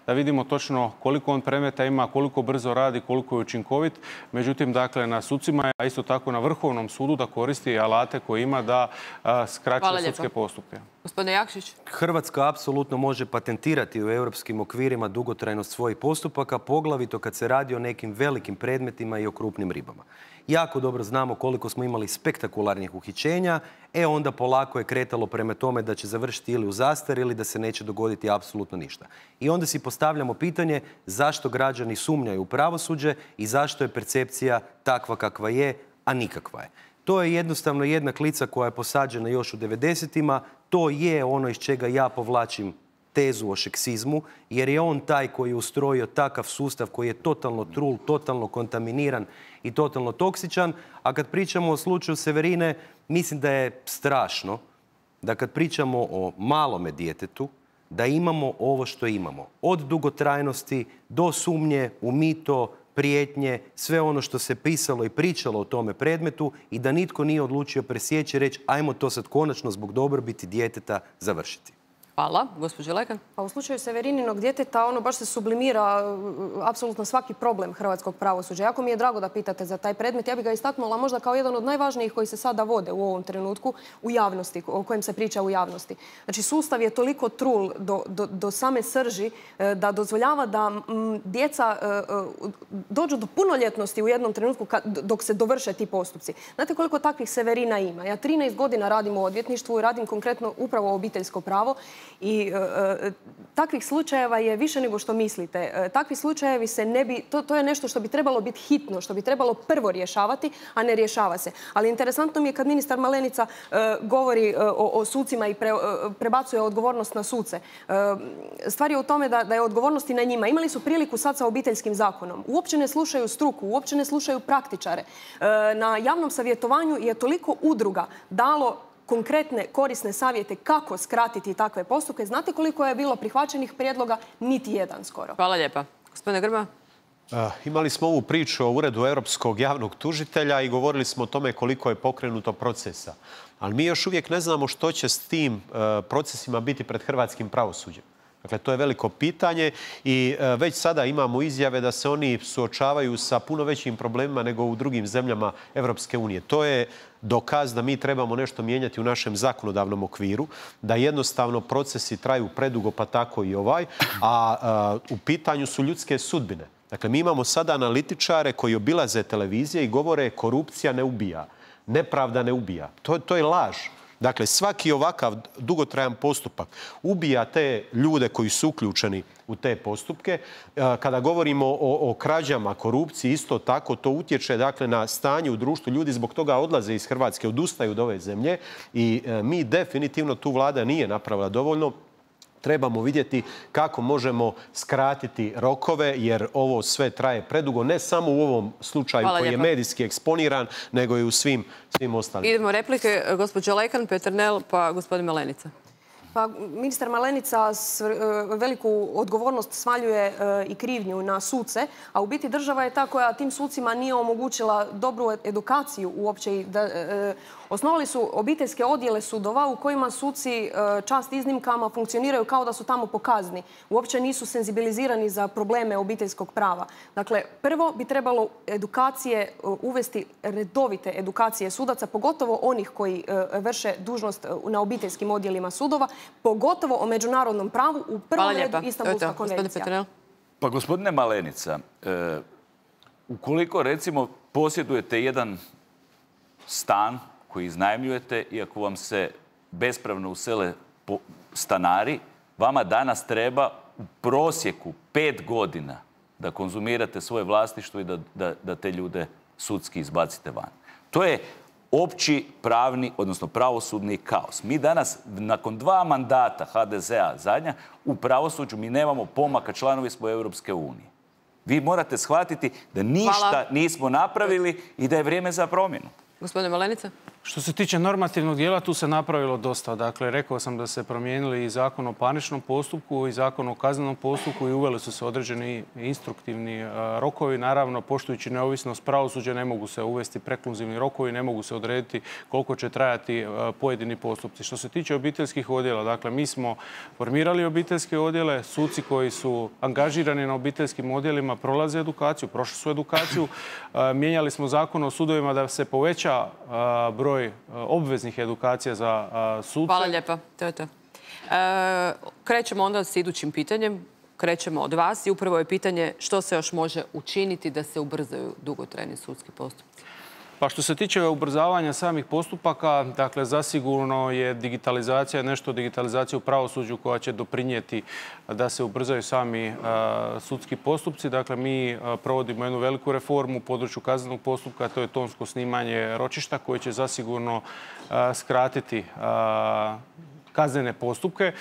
da vidimo točno koliko on predmeta ima, koliko brzo radi, koliko je učinkovit. Međutim, dakle, na sucima je, a isto tako na Vrhovnom sudu, da koristi alate koje ima da skraćuje sudske postupke. Gospodine Jakšić. Hrvatska apsolutno može patentirati u europskim okvirima dugotrajnost svojih postupaka, poglavito kad se radi o nekim velikim predmetima i o krupnim ribama. Jako dobro znamo koliko smo imali spektakularnih uhićenja, e onda polako je kretalo prema tome da će završiti ili u zastari ili da se neće dogoditi apsolutno ništa. I onda si postavljamo pitanje zašto građani sumnjaju u pravosuđe i zašto je percepcija takva kakva je, a nikakva je. To je jednostavno jedna klica koja je posađena još u devedesetima. To je ono iz čega ja povlačim tezu o šeksizmu, jer je on taj koji je ustrojio takav sustav koji je totalno trul, totalno kontaminiran i totalno toksičan. A kad pričamo o slučaju Severine, mislim da je strašno da kad pričamo o malome djetetu, da imamo ovo što imamo. Od dugotrajnosti do sumnje u mito, prijetnje, sve ono što se pisalo i pričalo o tome predmetu i da nitko nije odlučio presjeći i reći ajmo to sad konačno zbog dobrobiti djeteta završiti. Hvala. Gospođo Lekan? Pa u slučaju Severininog djeteta ono baš se sublimira apsolutno svaki problem hrvatskog pravosuđa. Jako mi je drago da pitate za taj predmet. Ja bih ga istaknula možda kao jedan od najvažnijih koji se sada vode u ovom trenutku u javnosti, o kojem se priča u javnosti. Znači, sustav je toliko trul do, do, do same srži da dozvoljava da m, djeca e, dođu do punoljetnosti u jednom trenutku kad, dok se dovrše ti postupci. Znate koliko takvih Severina ima? Ja trinaest godina radim u odvjetništvu i radim konkretno upravo obiteljsko pravo I e, takvih slučajeva je više nego što mislite. E, takvi slučajevi se ne bi, to, to je nešto što bi trebalo biti hitno, što bi trebalo prvo rješavati, a ne rješava se. Ali interesantno mi je kad ministar Malenica e, govori e, o, o sucima i pre, e, prebacuje odgovornost na suce. E, stvar je u tome da, da je odgovornost i na njima. Imali su priliku sad sa obiteljskim zakonom. Uopće ne slušaju struku, uopće ne slušaju praktičare. E, na javnom savjetovanju je toliko udruga dalo konkretne korisne savjete kako skratiti takve postupke. Znate koliko je bilo prihvaćenih prijedloga? Niti jedan skoro. Hvala lijepa. Gospodine Grmoja. Uh, imali smo ovu priču o Uredu Europskog javnog tužitelja i govorili smo o tome koliko je pokrenuto procesa. Ali mi još uvijek ne znamo što će s tim uh, procesima biti pred hrvatskim pravosuđem. Dakle, to je veliko pitanje i uh, već sada imamo izjave da se oni suočavaju sa puno većim problemima nego u drugim zemljama Europske unije. To je dokaz da mi trebamo nešto mijenjati u našem zakonodavnom okviru, da jednostavno procesi traju predugo, pa tako i ovaj, a uh, u pitanju su ljudske sudbine. Dakle, mi imamo sada analitičare koji obilaze televizije i govore korupcija ne ubija, nepravda ne ubija. To, to je laž. Dakle, svaki ovakav dugotrajan postupak ubija te ljude koji su uključeni u te postupke. Kada govorimo o, o krađama, korupciji, isto tako to utječe dakle, na stanje u društvu. Ljudi zbog toga odlaze iz Hrvatske, odustaju od ove zemlje i mi definitivno, tu vlada nije napravila dovoljno. Trebamo vidjeti kako možemo skratiti rokove, jer ovo sve traje predugo, ne samo u ovom slučaju Hvala koji lijepa. je medijski eksponiran, nego i u svim, svim ostalim. Idemo replike. Gospođa Lekan, Peternel, pa gospodin Malenica. Pa, ministar Malenica s, e, veliku odgovornost svaljuje e, i krivnju na suce, a u biti država je ta koja tim sucima nije omogućila dobru edukaciju uopće. I da, e, osnovali su obiteljske odjele sudova u kojima suci e, čast iznimkama funkcioniraju kao da su tamo po kazni. Uopće nisu senzibilizirani za probleme obiteljskog prava. Dakle, prvo bi trebalo edukacije e, uvesti redovite edukacije sudaca, pogotovo onih koji e, vrše dužnost na obiteljskim odjelima sudova, pogotovo o međunarodnom pravu, u prvom redu Istanbulska konvencija. Pa gospodine Malenica, e, ukoliko recimo posjedujete jedan stan koji iznajmljujete, iako vam se bespravno usele stanari, vama danas treba u prosjeku pet godina da konzumirate svoje vlasništvo i da, da, da te ljude sudski izbacite van. To je opći pravni, odnosno pravosudni kaos. Mi danas, nakon dva mandata ha de zea zadnja, u pravosuđu mi nemamo pomaka, članovi smo Europske unije. Vi morate shvatiti da ništa Hvala. nismo napravili i da je vrijeme za promjenu. Gospodine Malenica. Što se tiče normativnog dijela, tu se napravilo dosta. Dakle, rekao sam da se promijenili i zakon o parničnom postupku i zakon o kaznenom postupku i uveli su se određeni instruktivni rokovi. Naravno, poštujući neovisnost pravosuđa, ne mogu se uvesti prekluzivni rokovi, ne mogu se odrediti koliko će trajati pojedini postupci. Što se tiče obiteljskih odjela, dakle, mi smo formirali obiteljske odjele, suci koji su angažirani na obiteljskim odjelima prolaze edukaciju, prošli su edukaciju. Mijenjali smo zakon o sudovima da se poveća broj obveznih edukacija za suce. Hvala lijepa. To je to. E, krećemo onda s idućim pitanjem. Krećemo od vas i upravo je pitanje što se još može učiniti da se ubrzaju dugotrajni sudski postupci. Pa što se tiče ubrzavanja samih postupaka, dakle, zasigurno je digitalizacija, nešto digitalizacija u pravosuđu koja će doprinijeti da se ubrzaju sami uh, sudski postupci. Dakle, mi uh, provodimo jednu veliku reformu u području kaznenog postupka, to je tonsko snimanje ročišta koje će zasigurno uh, skratiti uh, kaznene postupke.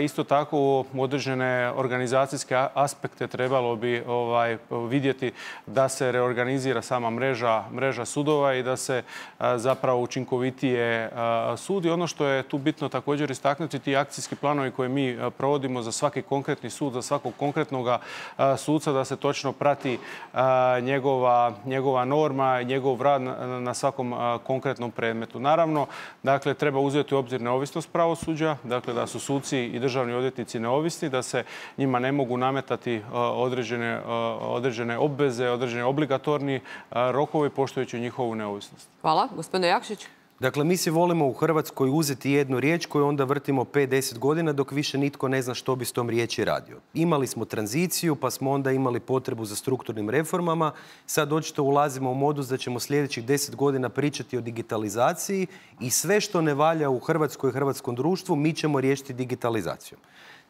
Isto tako određene organizacijske aspekte trebalo bi ovaj, vidjeti da se reorganizira sama mreža, mreža sudova i da se zapravo učinkovitije sudi. Ono što je tu bitno također istaknuti, ti akcijski planovi koje mi provodimo za svaki konkretni sud, za svakog konkretnog suca, da se točno prati njegova, njegova norma i njegov rad na, na svakom konkretnom predmetu. Naravno, dakle, treba uzeti u obzir neovisnost pravosuđa, dakle da su suci i državni odvjetnici neovisni, da se njima ne mogu nametati određene, određene obveze, određene obligatorni rokovi poštujući njihovu neovisnost. Hvala. Gospodine Jakšić. Dakle, mi si volimo u Hrvatskoj uzeti jednu riječ koju onda vrtimo pet do deset godina dok više nitko ne zna što bi s tom riječi radio. Imali smo tranziciju, pa smo onda imali potrebu za strukturnim reformama. Sad očito ulazimo u modus da ćemo sljedećih deset godina pričati o digitalizaciji i sve što ne valja u Hrvatskoj i hrvatskom društvu mi ćemo riješiti digitalizacijom.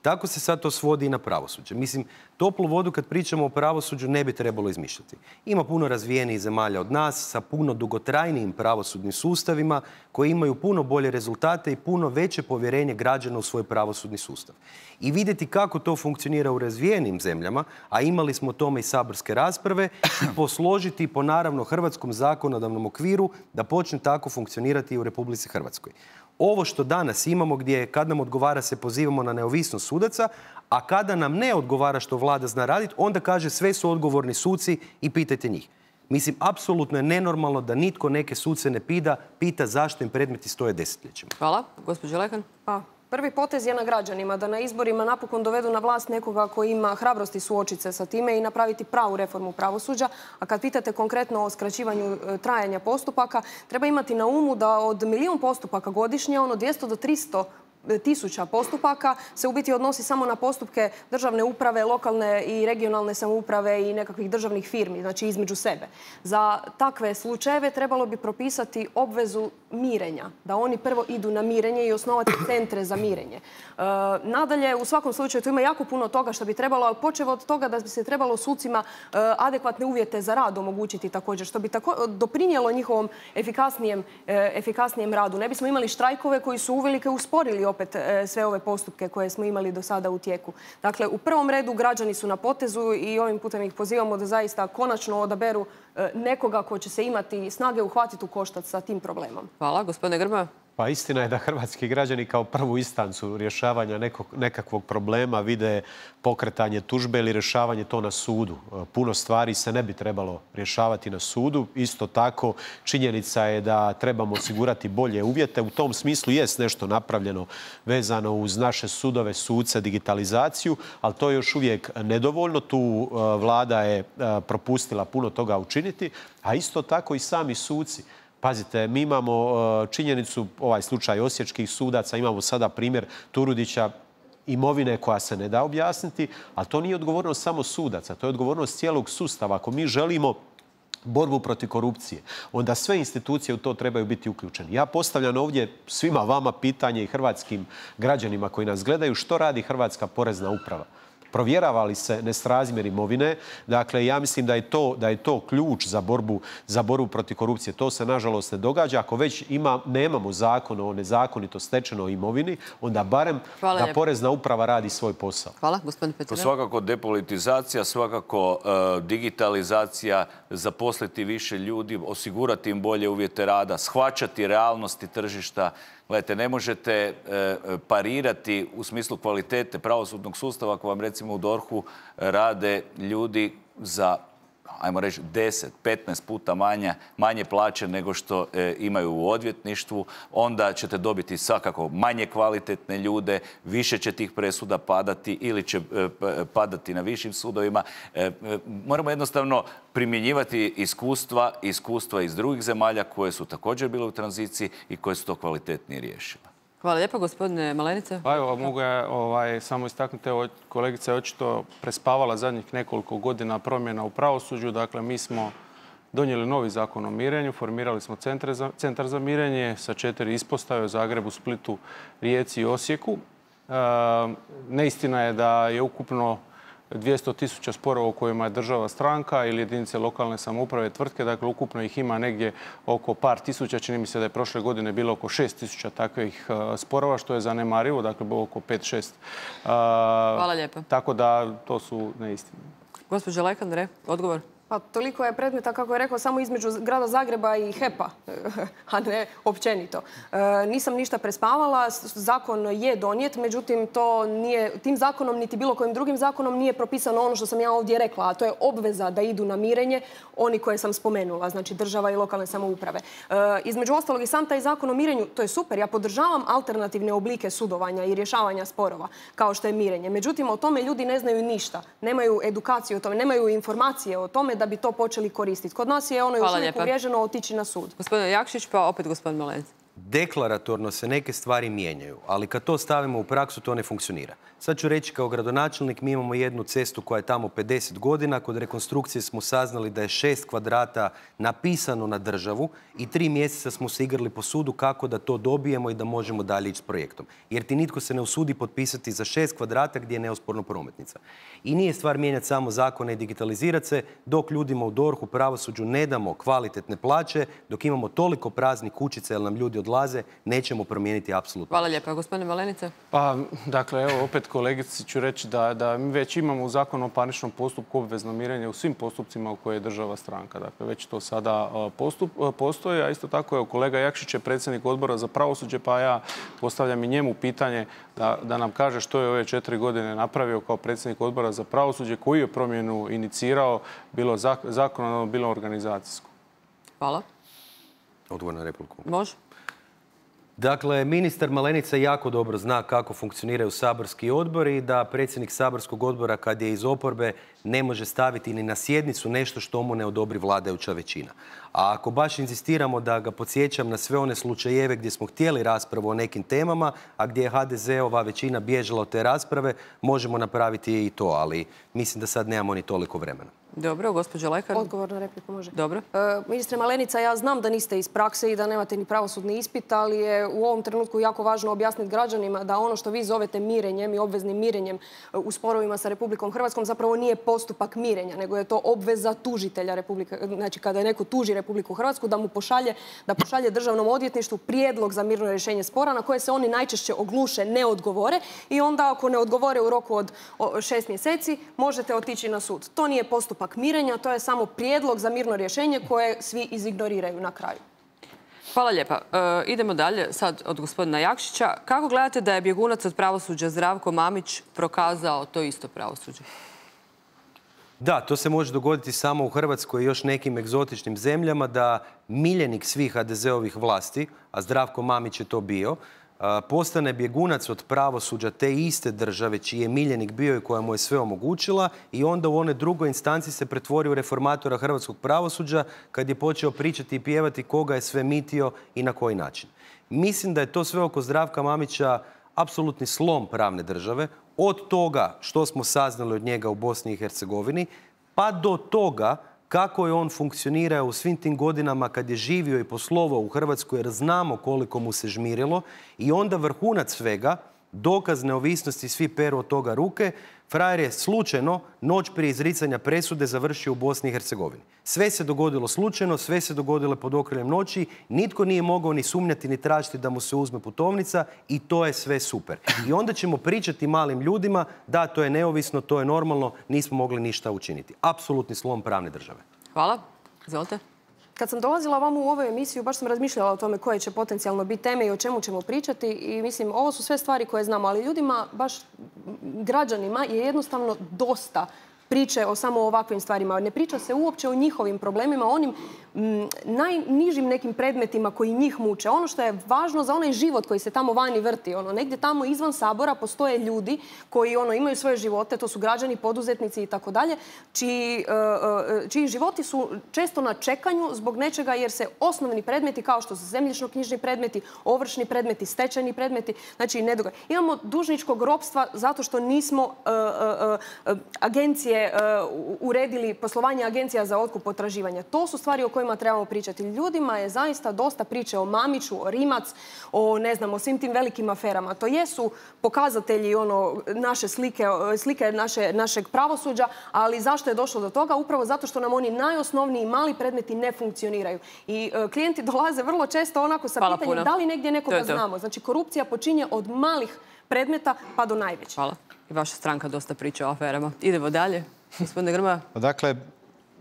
Tako se sad to svodi i na pravosuđe. Mislim, toplu vodu kad pričamo o pravosuđu ne bi trebalo izmišljati. Ima puno razvijenijih zemalja od nas sa puno dugotrajnijim pravosudnim sustavima koji imaju puno bolje rezultate i puno veće povjerenje građana u svoj pravosudni sustav. I vidjeti kako to funkcionira u razvijenim zemljama, a imali smo o tome i saborske rasprave, i posložiti po naravno hrvatskom zakonodavnom okviru da počne tako funkcionirati i u Republici Hrvatskoj. Ovo što danas imamo gdje kad nam odgovara se pozivamo na neovisnost sudaca, a kada nam ne odgovara što vlada zna raditi, onda kaže sve su odgovorni suci i pitajte njih. Mislim, apsolutno je nenormalno da nitko neke suce ne pita, pita zašto im predmeti stoje desetljećima. Hvala. Gospođo Lekan. Pa, prvi potez je na građanima da na izborima napokon dovedu na vlast nekoga koji ima hrabrosti suočiti se sa time i napraviti pravu reformu pravosuđa. A kad pitate konkretno o skraćivanju trajanja postupaka, treba imati na umu da od milijun postupaka godišnje, ono dvjesto do tristo tisuća postupaka se u biti odnosi samo na postupke državne uprave, lokalne i regionalne samouprave i nekakvih državnih firmi, znači između sebe. Za takve slučajeve trebalo bi propisati obvezu mirenja, da oni prvo idu na mirenje i osnovati centre za mirenje. E, nadalje, u svakom slučaju, tu ima jako puno toga što bi trebalo, ali počevo od toga da bi se trebalo sucima e, adekvatne uvjete za rad omogućiti također, što bi tako, doprinijelo njihovom efikasnijem, e, efikasnijem radu. Ne bismo imali štrajkove koji su uvelike usporili opet sve ove postupke koje smo imali do sada u tijeku. Dakle, u prvom redu građani su na potezu i ovim putem ih pozivamo da zaista konačno odaberu nekoga ko će se imati snage uhvatiti u koštac sa tim problemom. Hvala. Gospodine Grmoja. Pa istina je da hrvatski građani kao prvu instancu rješavanja nekog, nekakvog problema vide pokretanje tužbe ili rješavanje to na sudu. Puno stvari se ne bi trebalo rješavati na sudu. Isto tako činjenica je da trebamo osigurati bolje uvjete. U tom smislu jest nešto napravljeno vezano uz naše sudove, suce, digitalizaciju, ali to je još uvijek nedovoljno. Tu vlada je propustila puno toga učiniti, a isto tako i sami suci. Pazite, mi imamo činjenicu, ovaj slučaj osječkih sudaca, imamo sada primjer Turudića, imovine koja se ne da objasniti, ali to nije odgovornost samo sudaca, to je odgovornost cijelog sustava. Ako mi želimo borbu protiv korupcije, onda sve institucije u to trebaju biti uključene. Ja postavljam ovdje svima vama pitanje i hrvatskim građanima koji nas gledaju, što radi Hrvatska porezna uprava? Provjerava li se nesrazmjer imovine? Dakle, ja mislim da je to, da je to ključ za borbu, za borbu protiv korupcije. To se, nažalost, ne događa. Ako već ima, nemamo zakon o nezakonito stečenoj imovini, onda barem Hvala da lijepo. porezna uprava radi svoj posao. Hvala, gospodin To Petrina. svakako depolitizacija, svakako uh, digitalizacija, zaposliti više ljudi, osigurati im bolje uvjete rada, shvaćati realnosti tržišta. Gledajte, ne možete e, parirati u smislu kvalitete pravosudnog sustava ako vam recimo u dorhu rade ljudi za, ajmo reći, deset, petnaest puta manje, manje plaće nego što e, imaju u odvjetništvu. Onda ćete dobiti svakako manje kvalitetne ljude, više će tih presuda padati ili će e, padati na višim sudovima. E, e, moramo jednostavno primjenjivati iskustva, iskustva iz drugih zemalja koje su također bile u tranziciji i koje su to kvalitetnije riješile. Hvala lijepo, gospodine Malenice. Pa evo, mogu ja ovaj, samo istaknuti, evo, kolegica je očito prespavala zadnjih nekoliko godina promjena u pravosuđu. Dakle, mi smo donijeli novi zakon o mirenju, formirali smo centre za, centar za mirenje sa četiri ispostave u Zagrebu, Splitu, Rijeci i Osijeku. E, neistina je da je ukupno dvjesto tisuća sporova u kojima je država stranka ili jedinice lokalne samouprave, tvrtke. Dakle, ukupno ih ima negdje oko par tisuća. Čini mi se da je prošle godine bilo oko šest tisuća takvih uh, sporova, što je zanemarivo. Dakle, bilo oko pet šest. Uh, Hvala lijepo. Tako da to su neistine. Gospođa Lekandre, odgovor. Pa toliko je predmeta, kako je rekao, samo između grada Zagreba i H E P-a, a ne općenito. E, nisam ništa prespavala, zakon je donijet, međutim to nije, tim zakonom niti bilo kojim drugim zakonom nije propisano ono što sam ja ovdje rekla, a to je obveza da idu na mirenje oni koje sam spomenula, znači država i lokalne samouprave. E, između ostalog i sam taj zakon o mirenju, to je super, ja podržavam alternativne oblike sudovanja i rješavanja sporova, kao što je mirenje. Međutim, o tome ljudi ne znaju ništa, nemaju edukaciju o tome, nemaju informacije o tome da bi to počeli koristiti. Kod nas je ono još uvijek uvriježeno otići na sud. Gospodine Jakšić, pa opet gospodin Malenice. deklaratorno se neke stvari mijenjaju, ali kad to stavimo u praksu, to ne funkcionira. Sad ću reći kao gradonačelnik, mi imamo jednu cestu koja je tamo pedeset godina. Kod rekonstrukcije smo saznali da je šest kvadrata napisano na državu i tri mjeseca smo se igrali po sudu kako da to dobijemo i da možemo dalje ići s projektom. Jer ti nitko se ne usudi potpisati za šest kvadrata gdje je neosporno prometnica. I nije stvar mijenjati samo zakone i digitalizirati se, dok ljudima u dorhu, pravosuđu ne damo kvalitetne plaće, dok imamo toliko praznih kućica jer nam ljudi odlaze, nećemo promijeniti apsolutno. Hvala lijepa. Gospodine Malenice? Pa, dakle, evo, opet kolegici ću reći da, da mi već imamo u Zakonu o parničnom postupku obvezno mirenje u svim postupcima u koje je država stranka. Dakle, već to sada postup, postoji, a isto tako, evo, kolega Jakšić je predsjednik odbora za pravosuđe, pa ja postavljam i njemu pitanje da, da nam kaže što je ove četiri godine napravio kao predsjednik odbora za pravosuđe, koju je promjenu inicirao, bilo zakonodavno, bilo organizacijsko. Hvala. Odgovor na repliku. Može. Dakle, ministar Malenica jako dobro zna kako funkcioniraju saborski odbori i da predsjednik saborskog odbora kad je iz oporbe ne može staviti ni na sjednicu nešto što mu ne odobri vladajuća većina. A ako baš inzistiramo da ga podsjećam na sve one slučajeve gdje smo htjeli raspravu o nekim temama, a gdje je ha de ze-ova većina bježala od te rasprave, možemo napraviti i to, ali mislim da sad nemamo ni toliko vremena. Dobro, gospođo Lekar. Odgovor na repliku može. Dobro. E, ministre Malenica, ja znam da niste iz prakse i da nemate ni pravosudni ispit, ali je u ovom trenutku jako važno objasniti građanima da ono što vi zovete mirenjem i obveznim mirenjem u sporovima sa Republikom Hrvatskom zapravo nije postupak mirenja, nego je to obveza tužitelja Republike, znači kada je neko tuži Republiku Hrvatsku, da mu pošalje, da pošalje državnom odvjetništvu prijedlog za mirno rješenje spora na koje se oni najčešće ogluše, ne odgovore i onda ako ne odgovore u roku od šest mjeseci možete otići na sud. To nije postupak mirenja, to je samo prijedlog za mirno rješenje koje svi izignoriraju na kraju. Hvala lijepa. E, idemo dalje sad od gospodina Jakšića. Kako gledate da je bjegunac od pravosuđa Zdravko Mamić prokazao to isto pravosuđe? Da, to se može dogoditi samo u Hrvatskoj i još nekim egzotičnim zemljama, da miljenik svih ha de ze-ovih vlasti, a Zdravko Mamić je to bio, postane bjegunac od pravosuđa te iste države čiji je miljenik bio i koja mu je sve omogućila i onda u one drugoj instanci se pretvori u reformatora hrvatskog pravosuđa kad je počeo pričati i pjevati koga je sve mitio i na koji način. Mislim da je to sve oko Zdravka Mamića apsolutni slom pravne države, od toga što smo saznali od njega u Bosni i Hercegovini, pa do toga kako je on funkcionirao u svim tim godinama kad je živio i poslovao u Hrvatskoj, jer znamo koliko mu se žmirilo, i onda vrhunac svega, dokaz neovisnosti, svi peru od toga ruke, frajer je slučajno noć prije izricanja presude završio u Bosni i Hercegovini. Sve se dogodilo slučajno, sve se dogodilo pod okriljem noći, nitko nije mogao ni sumnjati ni tražiti da mu se uzme putovnica i to je sve super. I onda ćemo pričati malim ljudima da to je neovisno, to je normalno, nismo mogli ništa učiniti. Apsolutni slom pravne države. Hvala. Izvolite. Kad sam dolazila vam u ovu emisiju, baš sam razmišljala o tome koje će potencijalno biti teme i o čemu ćemo pričati. I mislim, ovo su sve stvari koje znamo, ali ljudima, baš građanima, je jednostavno dosta priče o samo ovakvim stvarima. Ne priča se uopće o njihovim problemima, o onim m, najnižim nekim predmetima koji njih muče. Ono što je važno za onaj život koji se tamo vani vrti. Ono, negdje tamo izvan Sabora postoje ljudi koji ono, imaju svoje živote, to su građani, poduzetnici i tako dalje, čiji, uh, čiji životi su često na čekanju zbog nečega jer se osnovni predmeti kao što su zemljišno-knjižni predmeti, ovršni predmeti, stečajni predmeti, znači ne događa. Imamo dužničkog ropstva zato što nismo uh, uh, uh, agencije uredili poslovanje agencija za otkup potraživanja. To su stvari o kojima trebamo pričati. Ljudima je zaista dosta priče o Mamiću, o Rimac, o ne znam, o svim tim velikim aferama. To jesu pokazatelji ono naše slike, slike naše, našeg pravosuđa, ali zašto je došlo do toga? Upravo zato što nam oni najosnovniji mali predmeti ne funkcioniraju. I uh, klijenti dolaze vrlo često onako sa Hvala pitanjem puno. Da li negdje nekoga to to. znamo. Znači korupcija počinje od malih predmeta pa do najvećih. Hvala. I vaša stranka dosta priča o aferama. Idemo dalje. Gospodine Grmoja. Dakle,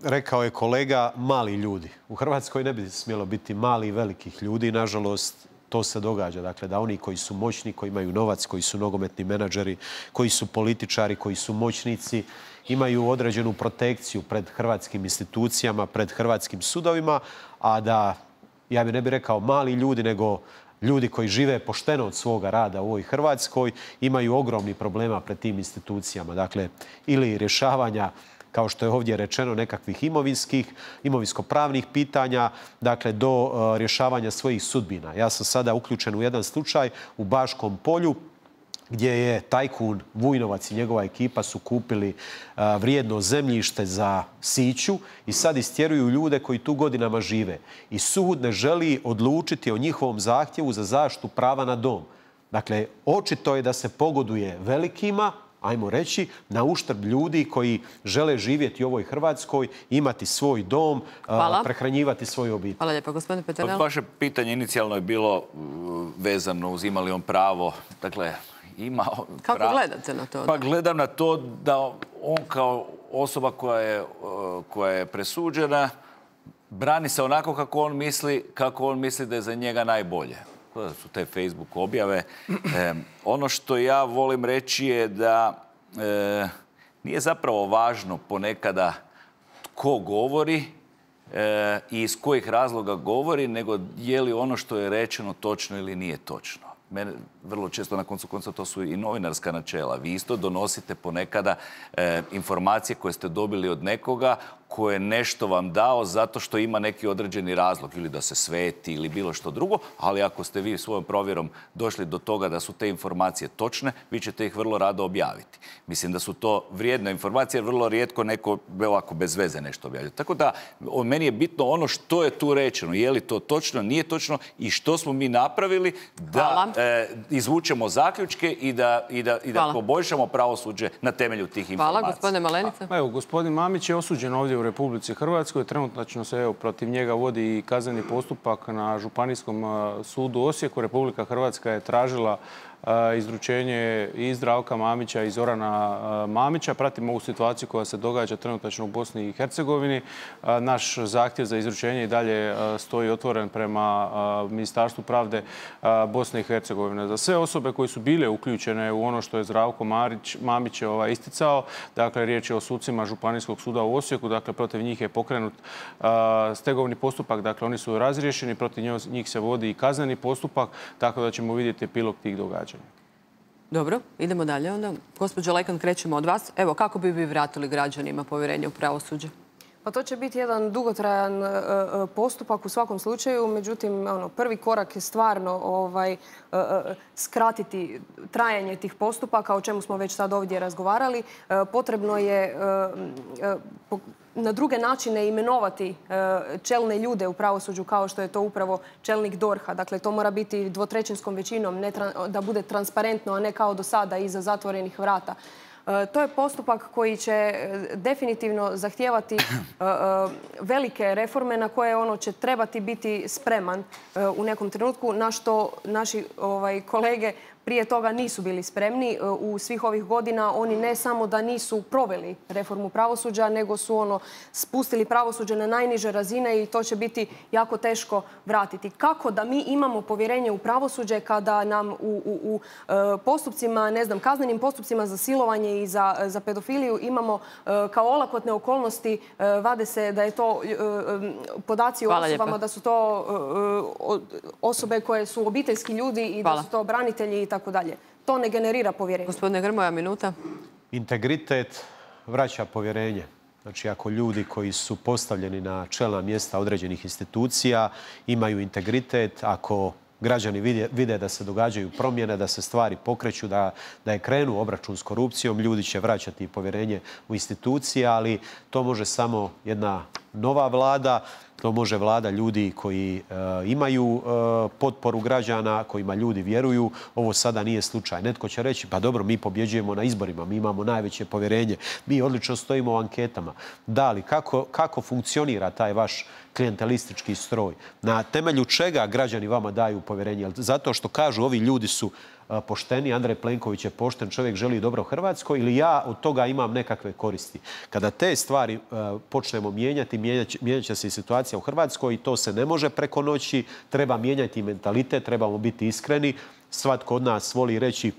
rekao je kolega, mali ljudi. U Hrvatskoj ne bi smjelo biti mali i velikih ljudi. Nažalost, to se događa. Dakle, da oni koji su moćni, koji imaju novac, koji su nogometni menadžeri, koji su političari, koji su moćnici, imaju određenu protekciju pred hrvatskim institucijama, pred hrvatskim sudovima, a da, ja bi ne bih rekao mali ljudi, nego ljudi koji žive pošteno od svoga rada u ovoj Hrvatskoj imaju ogromni problema pred tim institucijama. Dakle, ili rješavanja kao što je ovdje rečeno, nekakvih imovinskih, imovinsko-pravnih pitanja, dakle do rješavanja svojih sudbina. Ja sam sada uključen u jedan slučaj u Baškom Polju, gdje je tajkun Vujnovac i njegova ekipa su kupili vrijedno zemljište za siću i sad istjeruju ljude koji tu godinama žive. I sud ne želi odlučiti o njihovom zahtjevu za zaštitu prava na dom. Dakle, očito je da se pogoduje velikima, ajmo reći, na uštrb ljudi koji žele živjeti u ovoj Hrvatskoj, imati svoj dom, Hvala. prehranjivati svoju obitelj. Hvala lijepa, gospodine Peternel. Vaše pitanje inicijalno je bilo vezano uz ima li on pravo, dakle, ima... Kako pravo. gledate na to? Pa gledam na to da on kao osoba koja je, koja je presuđena brani se onako kako on misli, kako on misli da je za njega najbolje. To su te Facebook objave. E, ono što ja volim reći je da e, nije zapravo važno ponekada tko govori e, i iz kojih razloga govori, nego je li ono što je rečeno točno ili nije točno. Mene vrlo često na koncu konca to su i novinarska načela. Vi isto donosite ponekada e, informacije koje ste dobili od nekoga koje je nešto vam dao zato što ima neki određeni razlog ili da se sveti ili bilo što drugo, ali ako ste vi svojom provjerom došli do toga da su te informacije točne, vi ćete ih vrlo rado objaviti. Mislim da su to vrijedne informacije, jer vrlo rijetko neko ovako bez veze nešto objavlja. Tako da meni je bitno ono što je tu rečeno, je li to točno, nije točno i što smo mi napravili da e, izvučemo zaključke i da, i da, i da poboljšamo pravosuđe na temelju tih informacija. Hvala, gospodine Malenica. Pa, evo, gospodin Mamić je osuđen ovdje u Republici Hrvatskoj. Trenutačno se evo, protiv njega vodi i kazneni postupak na Županijskom sudu u Osijeku. Republika Hrvatska je tražila izručenje i Zdravka Mamića i Zorana Mamića. Pratimo ovu situaciju koja se događa trenutačno u Bosni i Hercegovini. Naš zahtjev za izručenje i dalje stoji otvoren prema Ministarstvu pravde Bosne i Hercegovine. Za sve osobe koje su bile uključene u ono što je Zdravko Mamić isticao, dakle riječ je o sucima Županijskog suda u Osijeku, dakle protiv njih je pokrenut stegovni postupak, dakle oni su razriješeni, protiv njih se vodi i kazneni postupak, tako da ćemo vidjeti epilog tih događanja. Dobro, idemo dalje onda. Gospođo Lekan, krećemo od vas. Evo, kako bi vi vratili građanima povjerenje u pravosuđe? Pa to će biti jedan dugotrajan postupak u svakom slučaju, međutim, ono, prvi korak je stvarno ovaj, skratiti trajanje tih postupaka, o čemu smo već sad ovdje razgovarali. Potrebno je na druge načine imenovati čelne ljude u pravosuđu kao što je to upravo čelnik D O R H-a. Dakle, to mora biti dvotrećinskom većinom, da bude transparentno, a ne kao do sada iza zatvorenih vrata. To je postupak koji će definitivno zahtijevati velike reforme na koje ono će trebati biti spreman u nekom trenutku, na što naši kolege prije toga nisu bili spremni. U svih ovih godina oni ne samo da nisu proveli reformu pravosuđa, nego su ono spustili pravosuđe na najniže razine i to će biti jako teško vratiti. Kako da mi imamo povjerenje u pravosuđe kada nam u, u, u postupcima, ne znam, kaznenim postupcima za silovanje i za, za pedofiliju imamo kao olakotne okolnosti, vade se da je to podaci o osobama, da su to osobe koje su obiteljski ljudi i da su to branitelji i tako dalje. To ne generira povjerenje. Gospodine Grmoja, minuta. Integritet vraća povjerenje. Znači, ako ljudi koji su postavljeni na čelna mjesta određenih institucija imaju integritet, ako građani vide, vide da se događaju promjene, da se stvari pokreću, da, da je krenu obračun s korupcijom, ljudi će vraćati povjerenje u institucije, ali to može samo jedna nova vlada. To može vlada ljudi koji e, imaju e, potporu građana, kojima ljudi vjeruju. Ovo sada nije slučaj. Netko će reći, pa dobro, mi pobjeđujemo na izborima, mi imamo najveće povjerenje, mi odlično stojimo u anketama. Da li, kako, kako funkcionira taj vaš klijentelistički stroj? Na temelju čega građani vama daju povjerenje? Zato što kažu, ovi ljudi su pošteni, Andrej Plenković je pošten čovjek, želi dobro Hrvatskoj, ili ja od toga imam nekakve koristi. Kada te stvari uh, počnemo mijenjati, mijenjat će se i situacija u Hrvatskoj i to se ne može preko noći. Treba mijenjati mentalitet, trebamo biti iskreni. Svatko od nas voli reći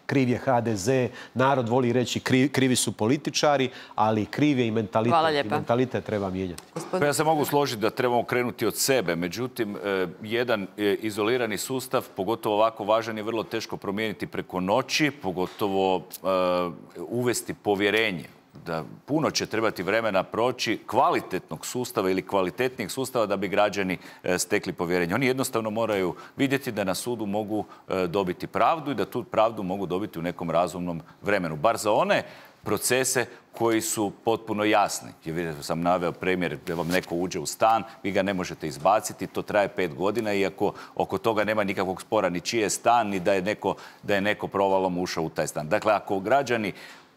kriv je H D Z, narod voli reći kriv, krivi su političari, ali kriv je i mentalitet. I mentalitet treba mijenjati. Pa ja se mogu složiti da trebamo krenuti od sebe. Međutim, jedan izolirani sustav, pogotovo ovako važan, je vrlo teško promijeniti preko noći, pogotovo uh, uvesti povjerenje. da puno će trebati vremena proći kvalitetnog sustava ili kvalitetnijeg sustava da bi građani stekli povjerenje. Oni jednostavno moraju vidjeti da na sudu mogu dobiti pravdu i da tu pravdu mogu dobiti u nekom razumnom vremenu. Bar za one procese koji su potpuno jasni. Jer vidite, sam naveo primjer da vam neko uđe u stan, vi ga ne možete izbaciti, to traje pet godina, iako oko toga nema nikakvog spora ni čiji je stan, ni da je neko, da je neko provalom ušao u taj stan. Dakle, ako građani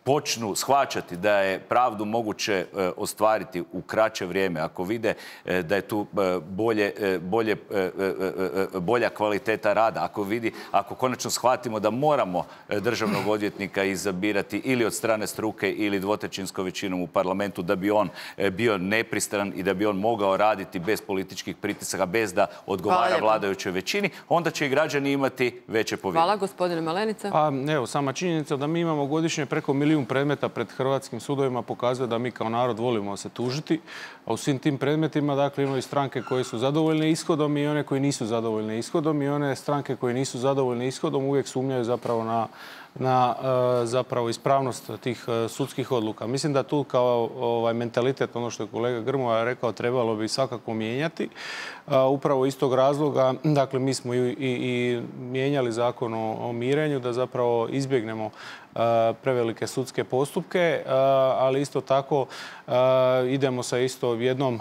počnu shvaćati da je pravdu moguće e, ostvariti u kraće vrijeme, ako vide e, da je tu e, bolje, e, bolje, e, e, bolja kvaliteta rada, ako vidi, ako konačno shvatimo da moramo državnog odvjetnika izabirati ili od strane struke ili dvotrećinskom većinom u parlamentu da bi on e, bio nepristran i da bi on mogao raditi bez političkih pritisaka, bez da odgovara vladajućoj većini, onda će i građani imati veće povjerenje. Hvala, gospodine Malenica. Pa, evo, sama činjenica da mi imamo godišnje preko milijun predmeta pred hrvatskim sudovima pokazuje da mi kao narod volimo se tužiti, a u svim tim predmetima dakle, imaju stranke koje su zadovoljne ishodom i one koji nisu zadovoljne ishodom i one stranke koje nisu zadovoljne ishodom uvijek sumnjaju zapravo na na zapravo ispravnost tih sudskih odluka. Mislim da tu kao ovaj mentalitet, ono što je kolega Grmoja rekao, trebalo bi svakako mijenjati. Upravo iz tog razloga, dakle, mi smo i, i, i mijenjali zakon o, o mirenju da zapravo izbjegnemo prevelike sudske postupke, ali isto tako idemo sa isto jednom,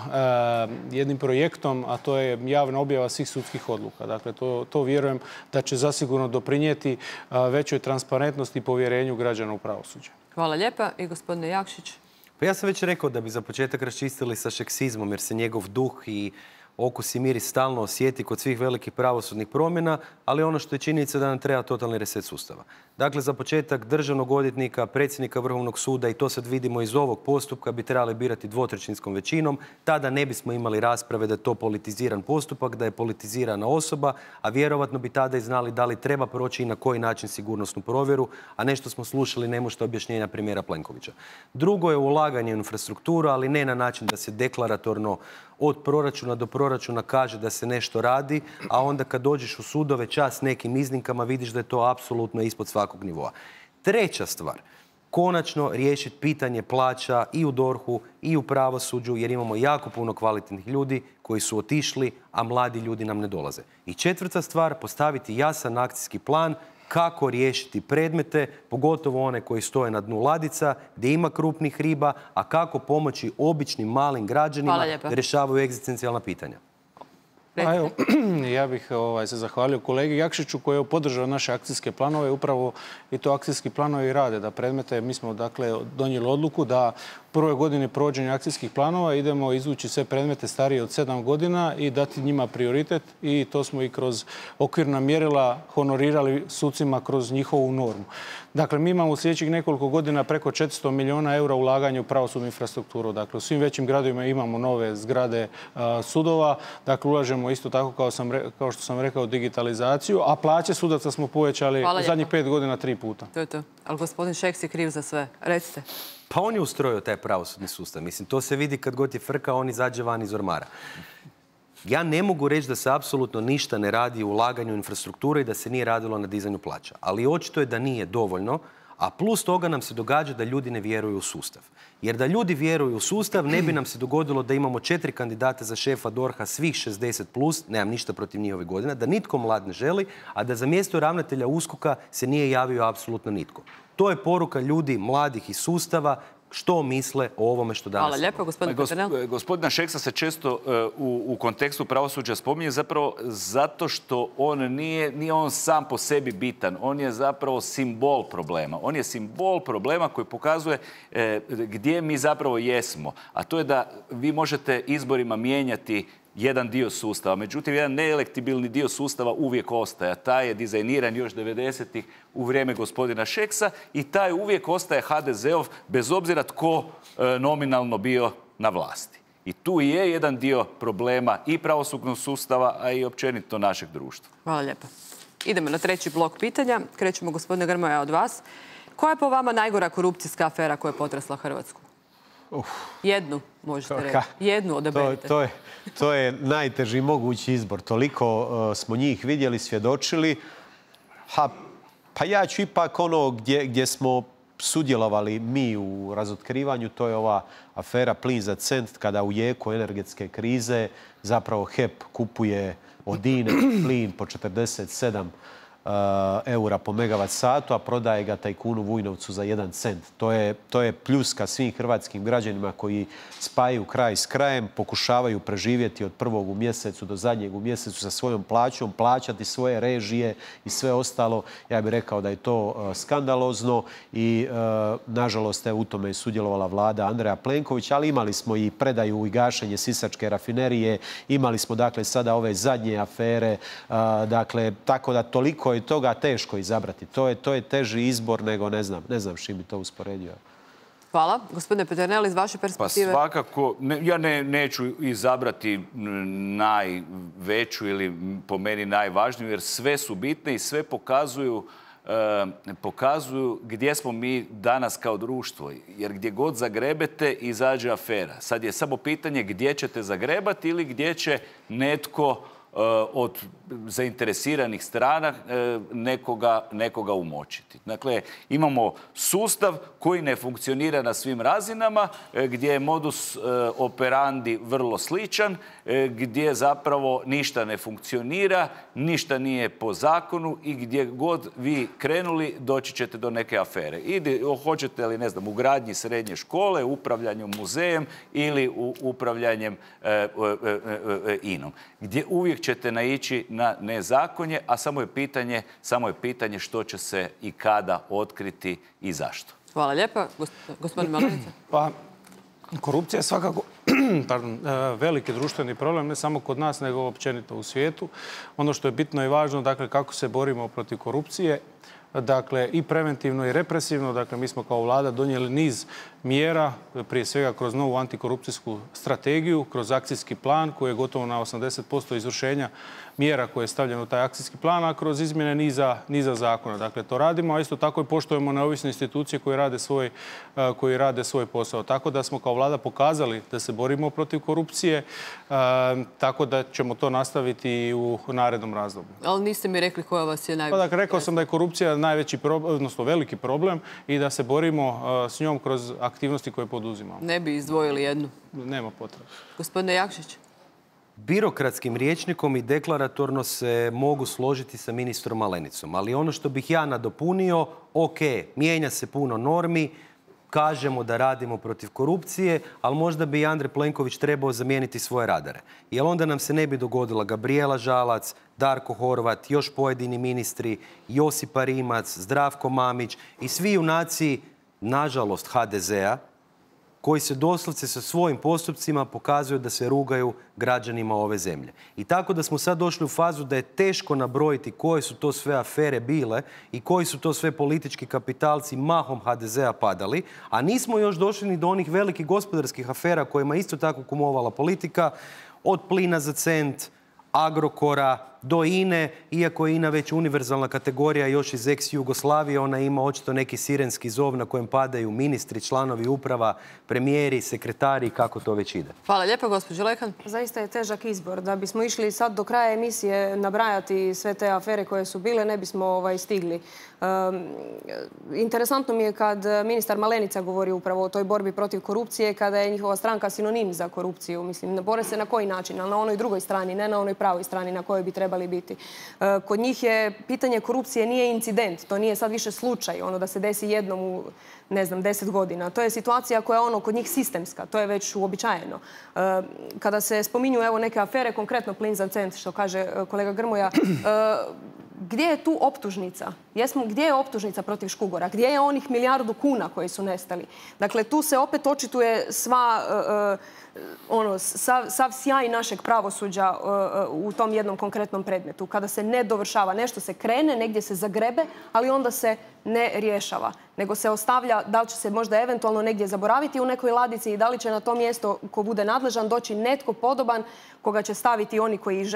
jednim projektom, a to je javna objava svih sudskih odluka. Dakle, to, to vjerujem da će zasigurno doprinijeti većoj transparentnosti i povjerenju građana u pravosuđe. Hvala lijepa. I gospodine Jakšić. Pa ja sam već rekao da bi za početak raščistili sa šeksizmom, jer se njegov duh i okus i miris stalno osjeti kod svih velikih pravosudnih promjena, ali ono što je činjenica da nam treba totalni reset sustava. Dakle, za početak državnog odvjetnika, predsjednika Vrhovnog suda, i to sad vidimo iz ovog postupka, bi trebali birati dvotrećinskom većinom. Tada ne bismo imali rasprave da je to politiziran postupak, da je politizirana osoba, a vjerovatno bi tada i znali da li treba proći i na koji način sigurnosnu provjeru, a nešto smo slušali nemušta objašnjenja premijera Plenkovića. Drugo je ulaganje u infrastrukturu, ali ne na način da se deklaratorno od proračuna do proračuna kaže da se nešto radi, a onda kad dođeš u sudove čast nekim iznimkama vidiš da je to apsolutno ispod svakog nivoa. Treća stvar, konačno riješiti pitanje plaća i u dorhu i u pravosuđu, jer imamo jako puno kvalitetnih ljudi koji su otišli, a mladi ljudi nam ne dolaze. I četvrta stvar, postaviti jasan akcijski plan kako riješiti predmete, pogotovo one koji stoje na dnu ladica, gdje ima krupnih riba, a kako pomoći običnim malim građanima da rješavaju egzistencijalna pitanja. Pa evo, ja bih ovaj, se zahvalio kolegi Jakšiću koji je podržao naše akcijske planove. Upravo i to akcijski planovi rade, da predmete, mi smo dakle donijeli odluku da u prvoj godini provođenja akcijskih planova idemo izvući sve predmete starije od sedam godina i dati njima prioritet, i to smo i kroz okvirna mjerila honorirali sucima kroz njihovu normu. Dakle, mi imamo u sljedećih nekoliko godina preko četiristo milijuna eura ulaganja u pravosudnu infrastrukturu. Dakle, u svim većim gradovima imamo nove zgrade a, sudova. Dakle, ulažemo isto tako, kao, sam, kao što sam rekao, digitalizaciju, a plaće sudaca smo povećali u zadnjih pet godina tri puta. To je to. Ali gospodin Šeks je kriv za sve. Recite. Pa on je ustrojio taj pravosudni sustav. Mislim, to se vidi kad god je frka, on izađe van iz ormara. Ja ne mogu reći da se apsolutno ništa ne radi u ulaganju infrastrukture i da se nije radilo na dizanju plaća. Ali očito je da nije dovoljno, a plus toga nam se događa da ljudi ne vjeruju u sustav. Jer da ljudi vjeruju u sustav, ne bi nam se dogodilo da imamo četiri kandidata za šefa dorha svih šezdeset plus, nemam ništa protiv njihovih godina, da nitko mlad ne želi, a da za mjesto ravnatelja uskoka se nije javio apsolutno nitko. To je poruka ljudi mladih iz sustava što misle o ovome što danas... Hvala lijepo, gospodin Peternel. Gospodina Šeksa se često u, u kontekstu pravosuđa spominje zapravo zato što on nije, nije on sam po sebi bitan. On je zapravo simbol problema. On je simbol problema koji pokazuje e, gdje mi zapravo jesmo. A to je da vi možete izborima mijenjati jedan dio sustava. Međutim, jedan neelektibilni dio sustava uvijek ostaje. Taj je dizajniran još devedesetih u vrijeme gospodina Šeksa i taj uvijek ostaje ha de zeov bez obzira tko e, nominalno bio na vlasti. I tu je jedan dio problema i pravosudnog sustava, a i općenito našeg društva. Hvala lijepa. Idemo na treći blok pitanja. Krećemo, gospodine Grmoja, od vas. Koja je po vama najgora korupcijska afera koja je potresla Hrvatsku? Uf. Jednu, možete reći. Jednu odaberite. To, to, je, to je najteži mogući izbor. Toliko uh, smo njih vidjeli, svjedočili. Ha, pa ja ću ipak ono gdje, gdje smo sudjelovali mi u razotkrivanju, to je ova afera plin za cent, kada u jeku energetske krize zapravo H E P kupuje od INE plin po četrdeset sedam eura po megavat satu, a prodaje ga tajkunu Vujnovcu za jedan cent. To je, to je pljuska svim hrvatskim građanima koji spajaju kraj s krajem, pokušavaju preživjeti od prvog u mjesecu do zadnjeg u mjesecu sa svojom plaćom, plaćati svoje režije i sve ostalo. Ja bih rekao da je to uh, skandalozno i uh, nažalost je u tome je sudjelovala vlada Andreja Plenkovića, ali imali smo i predaju i gašenje Sisačke rafinerije, imali smo dakle sada ove zadnje afere, uh, dakle tako da toliko je toga teško izabrati. To je, to je teži izbor nego ne znam, ne znam s čim bi to usporedio. Hvala. Gospodine Peternel, iz vaše perspektive. Pa svakako, ne, ja ne, neću izabrati najveću ili po meni najvažniju, jer sve su bitne i sve pokazuju e, pokazuju gdje smo mi danas kao društvo. Jer gdje god zagrebete, izađe afera. Sad je samo pitanje gdje ćete zagrebati ili gdje će netko od zainteresiranih strana nekoga, nekoga umočiti. Dakle, imamo sustav koji ne funkcionira na svim razinama, gdje je modus operandi vrlo sličan, gdje zapravo ništa ne funkcionira, ništa nije po zakonu i gdje god vi krenuli doći ćete do neke afere. Ide, hoćete li, ne znam, u gradnji srednje škole, upravljanjem muzejem ili u upravljanjem e, e, e, inom. Gdje uvijek ćete naići na nezakonje, a samo je pitanje, samo je pitanje što će se i kada otkriti i zašto. Hvala lijepa. Gospodin Malenica. Pa, korupcija je svakako pardon, veliki društveni problem, ne samo kod nas, nego općenito u svijetu. Ono što je bitno i važno, dakle, kako se borimo protiv korupcije, dakle, i preventivno i represivno. Dakle, mi smo kao vlada donijeli niz mjera, prije svega kroz novu antikorupcijsku strategiju, kroz akcijski plan koji je gotovo na osamdeset posto izvršenja mjera koje je stavljeno u taj akcijski plan, a kroz izmjene niza, niza zakona. Dakle, to radimo, a isto tako i poštujemo neovisne institucije koje rade svoj, koji rade svoj posao. Tako da smo kao vlada pokazali da se borimo protiv korupcije, tako da ćemo to nastaviti i u narednom razdoblju. Ali niste mi rekli koja vas je najveća. Pa, dakle, rekao sam da je korupcija najveći problem, odnosno veliki problem i da se borimo s njom kroz aktivnosti koje poduzimamo. Ne bi izdvojili jednu? Nema potrebe. Gospodine Jakšić. Birokratskim rječnikom i deklaratorno se mogu složiti sa ministrom Malenicom, ali ono što bih ja nadopunio, ok, mijenja se puno normi, kažemo da radimo protiv korupcije, ali možda bi Andrej Plenković trebao zamijeniti svoje radare. Jer onda nam se ne bi dogodila Gabrijela Žalac, Darko Horvat, još pojedini ministri, Josipa Rimac, Zdravko Mamić i svi junaci, nažalost, ha de zea, koji se doslovce sa svojim postupcima pokazuju da se rugaju građanima ove zemlje. I tako da smo sad došli u fazu da je teško nabrojiti koje su to sve afere bile i koji su to sve politički kapitalci mahom ha de zea padali, a nismo još došli ni do onih velikih gospodarskih afera kojima isto tako kumovala politika, od plina za cent, Agrokora do INE, iako je INA već univerzalna kategorija još iz ex-Jugoslavije, ona ima očito neki sirenski zov na kojem padaju ministri, članovi uprava, premijeri, sekretari, kako to već ide. Hvala lijepo, gospođo Lehan. Zaista je težak izbor. Da bismo išli sad do kraja emisije nabrajati sve te afere koje su bile, ne bismo ovaj, stigli. Um, interesantno mi je kad ministar Malenica govori upravo o toj borbi protiv korupcije, kada je njihova stranka sinonim za korupciju. Mislim, ne bore se na koji način, ali na onoj drugoj strani, ne na onoj pravoj strani na kojoj bi trebali biti. Kod njih je pitanje korupcije nije incident, to nije sad više slučaj, ono da se desi jednom u, ne znam, deset godina. To je situacija koja je ono kod njih sistemska, to je već uobičajeno. Kada se spominju evo neke afere, konkretno plin za cent, što kaže kolega Grmoja, gdje je tu optužnica? Jesmo, gdje je optužnica protiv Škugora? Gdje je onih milijardu kuna koji su nestali? Dakle, tu se opet očituje sva, uh, ono, sav, sav sjaj našeg pravosuđa uh, u tom jednom konkretnom predmetu. Kada se ne dovršava, nešto se krene, negdje se zagrebe, ali onda se ne rješava. Nego se ostavlja, da li će se možda eventualno negdje zaboraviti u nekoj ladici i da li će na to mjesto ko bude nadležan doći netko podoban koga će staviti oni koji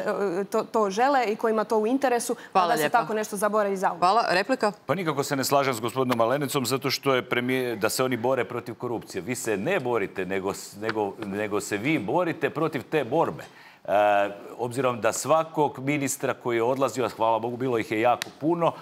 to, to žele i kojima to u interesu, Hvala da se lijepa. Tako nešto zaboravi za uvijek. Hvala. Replika? Pa nikako se ne slažem s gospodinom Malenicom zato što je premijer, da se oni bore protiv korupcije. Vi se ne borite, nego, nego, nego se vi borite protiv te borbe. E, obzirom da svakog ministra koji je odlazio, hvala Bogu, bilo ih je jako puno,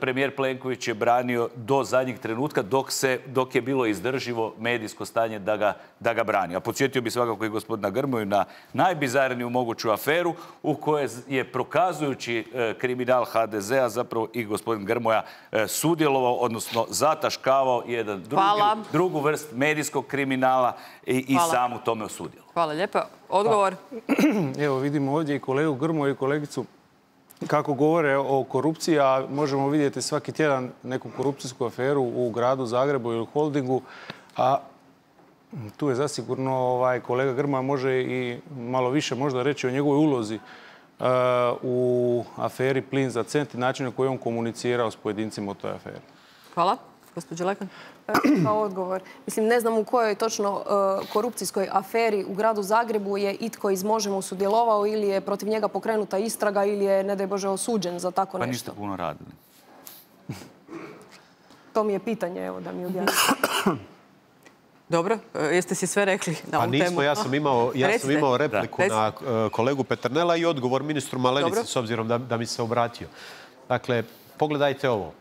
premijer Plenković je branio do zadnjeg trenutka dok, se, dok je bilo izdrživo medijsko stanje da ga, da ga brani. A podsjetio bi svakako i gospodina Grmoju na najbizarniju moguću aferu u kojoj je prokazujući kriminal ha de zea zapravo i gospodin Grmoja sudjelovao, odnosno zataškavao jedan drugi, drugu vrst medijskog kriminala i, i sam u tome osudio. Hvala lijepa. Odgovor? Pa, evo vidimo ovdje i kolegu Grmoju i kolegicu kako govore o korupciji, a možemo vidjeti svaki tjedan neku korupcijsku aferu u gradu Zagrebu ili holdingu, a tu je zasigurno ovaj, kolega Grmoja može i malo više možda reći o njegovoj ulozi uh, u aferi Plin za cent i načinu na koji on komunicirao s pojedincima u toj aferi. Hvala. Gospođo Lekan. Kao odgovor. Mislim, ne znam u kojoj točno uh, korupcijskoj aferi u gradu Zagrebu je itko iz Možemo sudjelovao ili je protiv njega pokrenuta istraga ili je, ne daj Bože, osuđen za tako pa nešto. Pa niste puno radili. To mi je pitanje, evo, da mi objasnite. Dobro, jeste si sve rekli na ovu temu? Pa nismo, ja sam imao, ja sam imao repliku da. na uh, kolegu Peternela i odgovor ministru Malenici, Dobro. s obzirom da, da mi se obratio. Dakle, pogledajte ovo.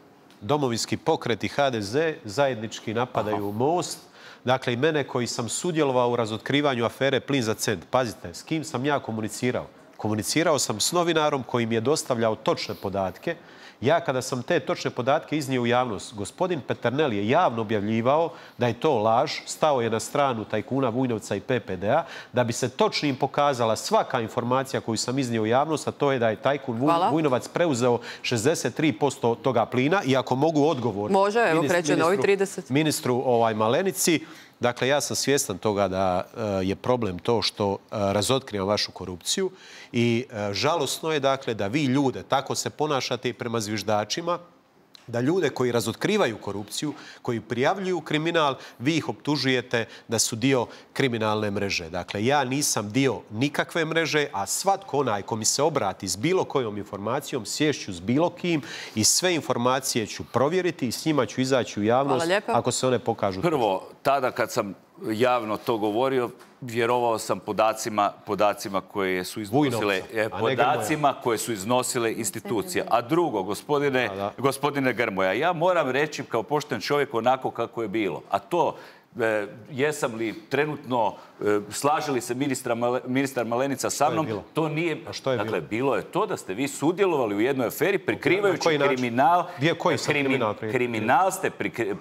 Domovinski pokret i ha de ze zajednički napadaju Aha. Most. Dakle, i mene koji sam sudjelovao u razotkrivanju afere Plin za cent. Pazite, s kim sam ja komunicirao? Komunicirao sam s novinarom koji mi je dostavljao točne podatke. Ja kada sam te točne podatke iznio u javnost, gospodin Peternel je javno objavljivao da je to laž, stao je na stranu tajkuna Vujnovca i pe pe de a, da bi se točnim pokazala svaka informacija koju sam iznio u javnost, a to je da je tajkun Hvala. Vujnovac preuzeo šezdeset tri posto toga plina. I ako mogu odgovor Može, evo, ministru, novi trideset. ministru ovaj, Malenici, dakle, ja sam svjestan toga da uh, je problem to što uh, razotkrivam vašu korupciju i uh, žalosno je, dakle, da vi ljude tako se ponašate i prema zviždačima, da ljude koji razotkrivaju korupciju, koji prijavljuju kriminal, vi ih optužujete da su dio kriminalne mreže. Dakle, ja nisam dio nikakve mreže, a svatko onaj ko mi se obrati s bilo kojom informacijom, sješću s bilo kim i sve informacije ću provjeriti i s njima ću izaći u javnost ako se one pokažu. Prvo, tada kad sam javno to govorio, vjerovao sam podacima, podacima koje su iznosile, Vujnovca, podacima koje su iznosile institucije. A drugo, gospodine, gospodine Grmoja, ja moram reći kao pošten čovjek onako kako je bilo. A to, e, jesam li trenutno, e, slažili se ministra, ministar Malenica sa mnom, to nije... A što je dakle, bilo? bilo je to da ste vi sudjelovali u jednoj aferi prikrivajući kriminal. Gdje, koji sam krimi, kriminal? Kriminal ste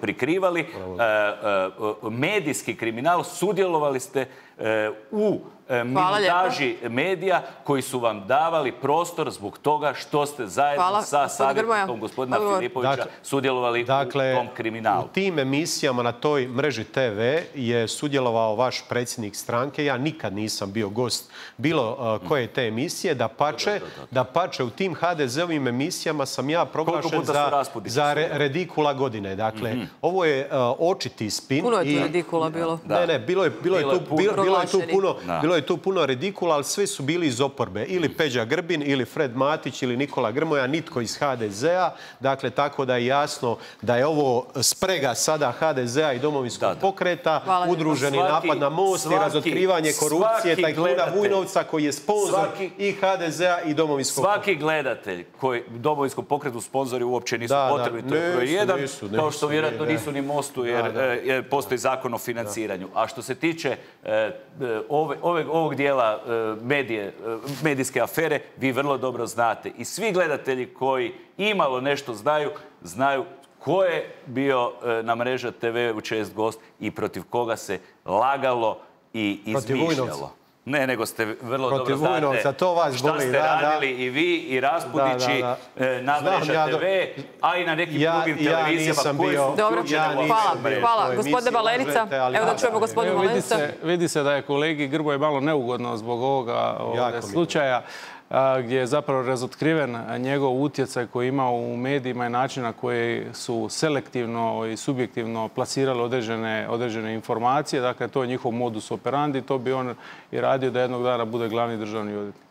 prikrivali, e, e, medijski kriminal, sudjelovali ste e, u minutaži medija koji su vam davali prostor zbog toga što ste zajedno Hvala. sa savjetnikom gospodina Filipovića dakle, sudjelovali dakle, u tom kriminalu. U tim emisijama na toj mreži te ve je sudjelovao vaš predsjednik stranke. Ja nikad nisam bio gost bilo uh, koje te emisije. Da pače, da pače u tim ha de zeovim emisijama sam ja proglašen za, za re, redikula godine. Dakle, mm-hmm. ovo je uh, očiti spin. Puno je tu i, redikula bilo. Da. Ne, ne, bilo je, bilo bilo je tu, bilo, bilo je tu puno... Da. Bilo je tu puno redikula, ali svi su bili iz oporbe. Ili Peđa Grbin, ili Fred Matić, ili Nikola Grmoja, nitko iz ha de zea. Dakle, tako da je jasno da je ovo sprega sada ha de zea i Domovinskog da, da. pokreta, Hvala udruženi svaki, napad na Most svaki, i razotkrivanje korupcije tajkuna Vujnovca koji je sponzor svaki, i ha de zea i Domovinskog pokreta. Svaki gledatelj koji Domovinskom pokretu sponzori uopće nisu da, potrebni. Da, to je jedan, nisu, nisu, kao što vjerojatno ne, nisu ni Mostu jer, da, da. jer postoji zakon o financiranju. Da. A što se tiče e, ove, ove ovog dijela medije, medijske afere, vi vrlo dobro znate. I svi gledatelji koji imalo nešto znaju, znaju ko je bio na Mreža te ve u čest gost i protiv koga se lagalo i izmišljalo. Ne, nego ste vrlo protiv dobro znate Vujnovca, to vas šta boli, ste da, radili da. i vi i Raspudići da, da, da. na Mreža ja te ve, a i na nekim ja, drugim ja televizijama koji su Dobro, ja hvala, hvala. Gospodine Malenica, evo da čujemo gospodine Malenica. Vidi se, vidi se da je kolegi Grmoje malo neugodno zbog ovoga, ovoga slučaja. Gdje je zapravo razotkriven njegov utjecaj koji je imao u medijima i način na koji su selektivno i subjektivno plasirali određene, određene informacije. Dakle, to je njihov modus operandi. To bi on i radio da jednog dana bude glavni državni odvjetnik.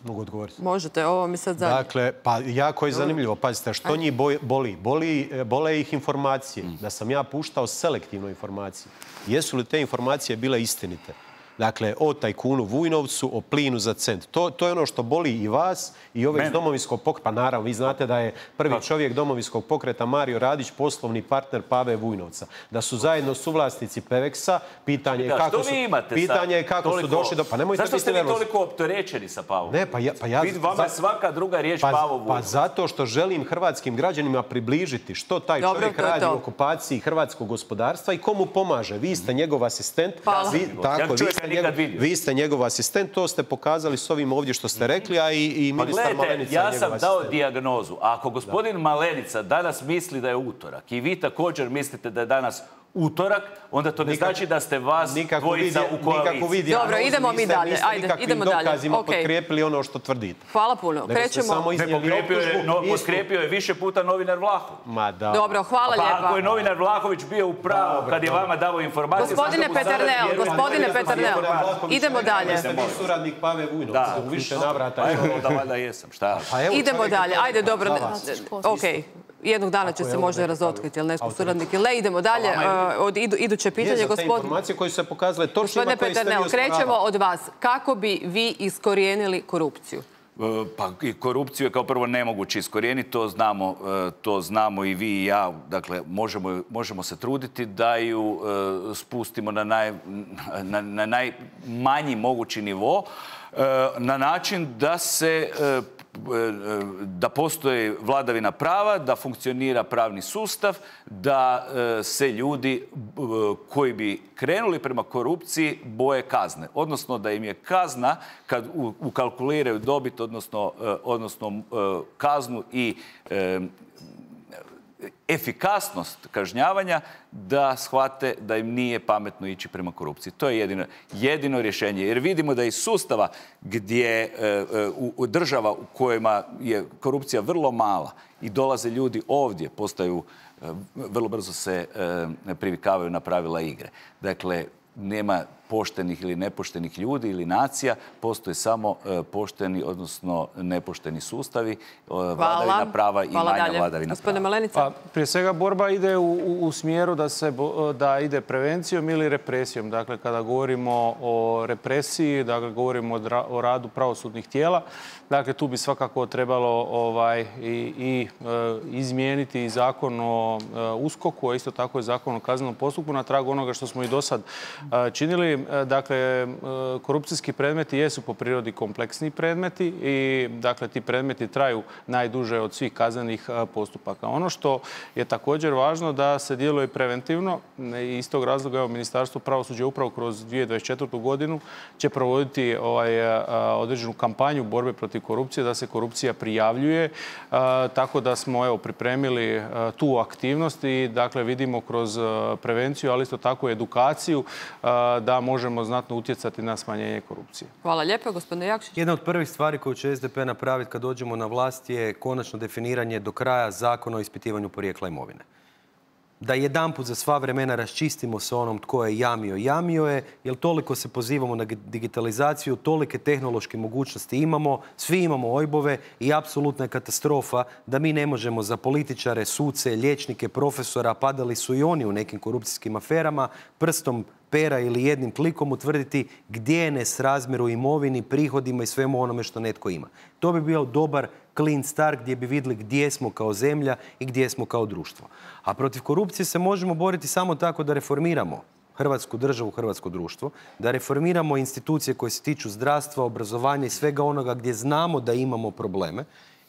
Mogu odgovoriti? Možete, ovo mi sad zadnje. Dakle, pa jako je zanimljivo. Pazite, što njih boli? Boli, bole ih informacije. Da sam ja puštao selektivno informacije. Jesu li te informacije bile istinite? Dakle, o tajkunu Vujnovcu, o plinu za cent. To, to je ono što boli i vas i ove iz Domovinskog pokreta. Pa naravno, vi znate da je prvi čovjek Domovinskog pokreta Mario Radić poslovni partner Pave Vujnovca. Da su zajedno suvlasnici Peveksa, pitanje je kako su, pitanje je kako su došli do... Pa nemojte zašto ste vi nervozni. toliko opterećeni sa Pavom? Ne, pa ja... Pa ja vama je svaka druga riječ pa, Pavo Vujnovac. Pa zato što želim hrvatskim građanima približiti što taj Dobro, čovjek to je radi to. u okupaciji hrvatskog gospodarstva i komu pomaže. Vi ste njegov asistent. Hvala. Vi, tako, Ja vi, čovjeka ste nikad njegov, vidio. vi ste njegov asistent, to ste pokazali s ovim ovdje što ste rekli, a i, i Pa ministar gledajte, Malenica ja je sam njegov dao asistent. dijagnozu. A ako gospodin Malenica danas misli da je utorak i vi također mislite da je danas utorak, onda to ne Nikak- znači da ste vas Nikako dvojica vidi- u koaliciji. nikako vidi Dobro, dijagnozu, idemo mi niste- dalje. niste Ajde, nikakvim idemo dalje. dokazima Okej. potkrijepili ono što tvrdite. Hvala puno. Nego ste Krećemo... samo Ne, iznijeli pokrijepio je, optužbu, no, istu. potkrijepio je više puta novinar Vlahović. Ma da. Dobro, hvala Pa lijepa. ako je novinar Vlahović bio u pravu kad je vama davo informacije... Gospodine zašto mu sada Peternel, vjerujete? gospodine Peternel, idemo dalje. Jeste vi suradnik Pave Vujnovca Da, u više navrata. Pa evo, da valjda jesam, šta? Pa evo, Idemo čovjek je dalje. to Ajde, rekao dobro. za vas. Ok. Jednog dana će Ako je se ovo možda nekakav razotkriti, ili netko autoritet. suradnik ili ne. Idemo dalje. E, Od idu- iduće Je pitanje, za te gospodin... informacije koje su se pokazale točnima Gospodine koje ste vi Peternel, osporavali. krećemo od vas. Kako bi vi iskorijenili korupciju? E, Pa i korupciju je kao prvo nemoguće iskorijeniti, to znamo, e, to znamo i vi i ja. Dakle, možemo, možemo se truditi da ju e, spustimo na, naj, na, na najmanji mogući nivo, e, na način da se e, da postoji vladavina prava, da funkcionira pravni sustav, da e, se ljudi e, koji bi krenuli prema korupciji boje kazne. Odnosno da im je kazna, kad u- ukalkuliraju dobit, odnosno, e, odnosno e, kaznu i e, efikasnost kažnjavanja, da shvate da im nije pametno ići prema korupciji. To je jedino, jedino rješenje. Jer vidimo da iz sustava gdje e, e, u, u država u kojima je korupcija vrlo mala i dolaze ljudi ovdje, postaju, e, vrlo brzo se e, privikavaju na pravila igre. Dakle, nema poštenih ili nepoštenih ljudi ili nacija, postoje samo e, pošteni, odnosno nepošteni sustavi, e, vladavina prava i Hvala manja dalje. vladavina Gospodine prava. Malenica. Pa, prije svega borba ide u, u, u smjeru da, se, bo- da ide prevencijom ili represijom. Dakle, kada govorimo o represiji, dakle, govorimo o, dra- o radu pravosudnih tijela, dakle, tu bi svakako trebalo ovaj, i, i e, izmijeniti i zakon o e, uskoku, a isto tako i zakon o kaznenom postupku na tragu onoga što smo i do sad e, činili. E, dakle, e, korupcijski predmeti jesu po prirodi kompleksni predmeti i dakle, ti predmeti traju najduže od svih kaznenih e, postupaka. Ono što je također važno da se djeluje preventivno i iz tog razloga evo, Ministarstvo pravosuđa upravo kroz dvije tisuće dvadeset četvrtu. godinu će provoditi ovaj, e, određenu kampanju borbe protiv korupcije, da se korupcija prijavljuje, e, tako da smo evo, pripremili e, tu aktivnost i dakle, vidimo kroz e, prevenciju, ali isto tako i edukaciju e, da možemo znatno utjecati na smanjenje korupcije. Hvala lijepo, gospodine Jakšić. Jedna od prvih stvari koju će S D P napraviti kad dođemo na vlast je konačno definiranje do kraja zakona o ispitivanju porijekla imovine. Da jedanput za sva vremena raščistimo sa onom tko je jamio, jamio je, jer toliko se pozivamo na digitalizaciju, tolike tehnološke mogućnosti imamo, svi imamo ojbove i apsolutna je katastrofa da mi ne možemo za političare, suce, liječnike, profesora, padali su i oni u nekim korupcijskim aferama, prstom pera ili jednim klikom utvrditi gdje je nesrazmjer u imovini, prihodima i svemu onome što netko ima. To bi bio dobar clean start gdje bi vidjeli gdje smo kao zemlja i gdje smo kao društvo. A protiv korupcije se možemo boriti samo tako da reformiramo Hrvatsku državu, hrvatsko društvo, da reformiramo institucije koje se tiču zdravstva, obrazovanja i svega onoga gdje znamo da imamo probleme.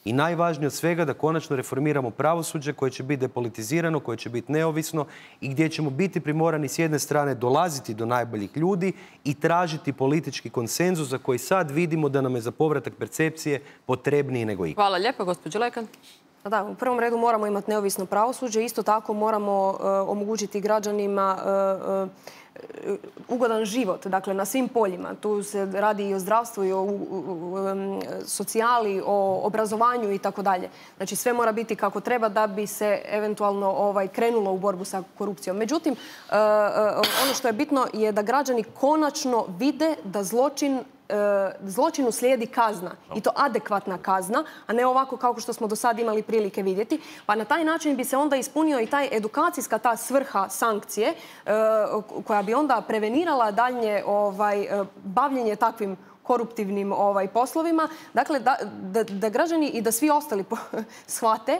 I najvažnije od svega da konačno reformiramo pravosuđe koje će biti depolitizirano, koje će biti neovisno i gdje ćemo biti primorani s jedne strane dolaziti do najboljih ljudi i tražiti politički konsenzus za koji sad vidimo da nam je za povratak percepcije potrebniji nego ikad. Hvala lijepo, gospođo Lekan. Da, u prvom redu moramo imati neovisno pravosuđe. Isto tako moramo uh, omogućiti građanima uh, uh, ugodan život, dakle na svim poljima. Tu se radi i o zdravstvu, i o u, u, um, socijali, o obrazovanju i tako dalje. Znači sve mora biti kako treba da bi se eventualno ovaj, krenulo u borbu sa korupcijom. Međutim, uh, uh, ono što je bitno je da građani konačno vide da zločin zločinu slijedi kazna i to adekvatna kazna, a ne ovako kao što smo do sad imali prilike vidjeti. Pa na taj način bi se onda ispunio i taj edukacijska ta svrha sankcije koja bi onda prevenirala daljnje bavljenje takvim koruptivnim poslovima. Dakle, da građani i da svi ostali shvate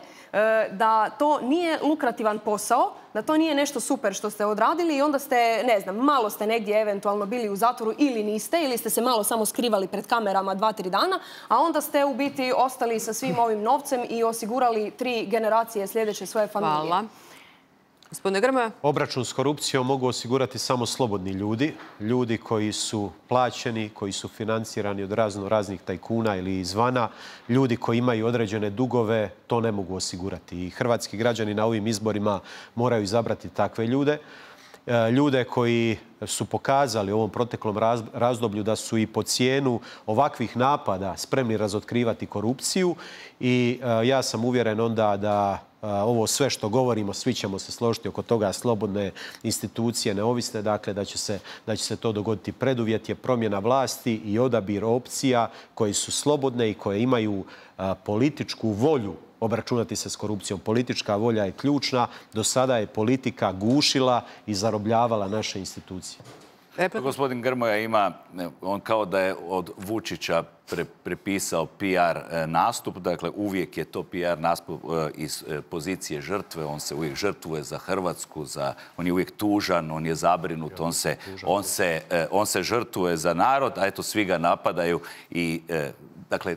da to nije lukrativan posao, da to nije nešto super što ste odradili i onda ste, ne znam, malo ste negdje eventualno bili u zatvoru ili niste, ili ste se malo samo skrivali pred kamerama dva, tri dana, a onda ste u biti ostali sa svim ovim novcem i osigurali tri generacije sljedeće svoje familije. Hvala. Gospodine Grmoja. Obračun s korupcijom mogu osigurati samo slobodni ljudi, ljudi koji su plaćeni, koji su financirani od razno raznih tajkuna ili izvana, ljudi koji imaju određene dugove, to ne mogu osigurati. I hrvatski građani na ovim izborima moraju izabrati takve ljude. Ljude koji su pokazali u ovom proteklom razdoblju da su i po cijenu ovakvih napada spremni razotkrivati korupciju i ja sam uvjeren onda da ovo sve što govorimo, svi ćemo se složiti oko toga, slobodne institucije, neovisne, dakle da će se, da će se to dogoditi. Preduvjet je promjena vlasti i odabir opcija koje su slobodne i koje imaju političku volju obračunati se s korupcijom. Politička volja je ključna. Do sada je politika gušila i zarobljavala naše institucije. Gospodin Grmoja ima, on kao da je od Vučića pre, prepisao P R nastup, dakle uvijek je to P R nastup iz pozicije žrtve, on se uvijek žrtvuje za Hrvatsku, za, on je uvijek tužan, on je zabrinut, on se, on se, on se žrtvuje za narod, a eto svi ga napadaju i dakle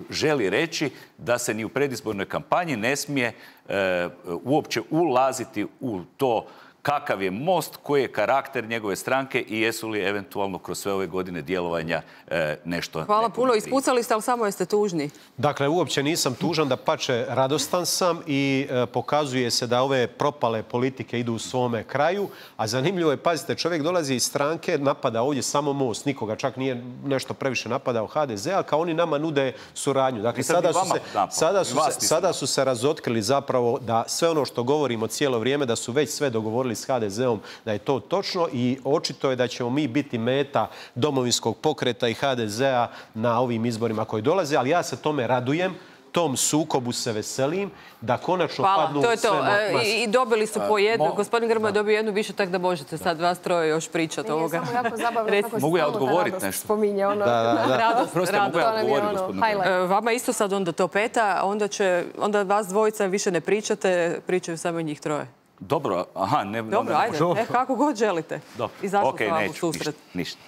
želi reći da se ni u predizbornoj kampanji ne smije e, uopće ulaziti u to kakav je Most, koji je karakter njegove stranke i jesu li eventualno kroz sve ove godine djelovanja e, nešto... Hvala puno. Ispucali ste, ali samo jeste tužni. Dakle, uopće nisam tužan, da pače radostan sam i e, pokazuje se da ove propale politike idu u svome kraju, a zanimljivo je, pazite, čovjek dolazi iz stranke, napada ovdje samo Most, nikoga, čak nije nešto previše napadao H D Z, a kao oni nama nude suradnju. Dakle, sada su, se, sada, su se, sada su se razotkrili zapravo da sve ono što govorimo cijelo vrijeme, da su već sve dogovorili s H D Z-om, da je to točno i očito je da ćemo mi biti meta Domovinskog pokreta i H D Z-a na ovim izborima koji dolaze, ali ja se tome radujem, tom sukobu se veselim, da konačno Hvala, padnu to je to. sve... I, I dobili su po jednu. Mo... Gospodin Grmoja je dobio jednu više, tako da možete sad vas troje još pričati ovoga. Nije samo jako zabavno kako se mogu ja odgovoriti nešto? Spominje ono... Da, da, da. Radost, Prosto radost. mogu ja odgovoriti, gospodinu Grmoja. Vama isto sad onda to peta, onda, će, onda vas dvojica više ne pričate, pričaju samo njih troje. Dobro, aha, ne... Dobro, ajde, e, kako god želite. Izašlo okay, sam vam u susret. Ništa, ništa.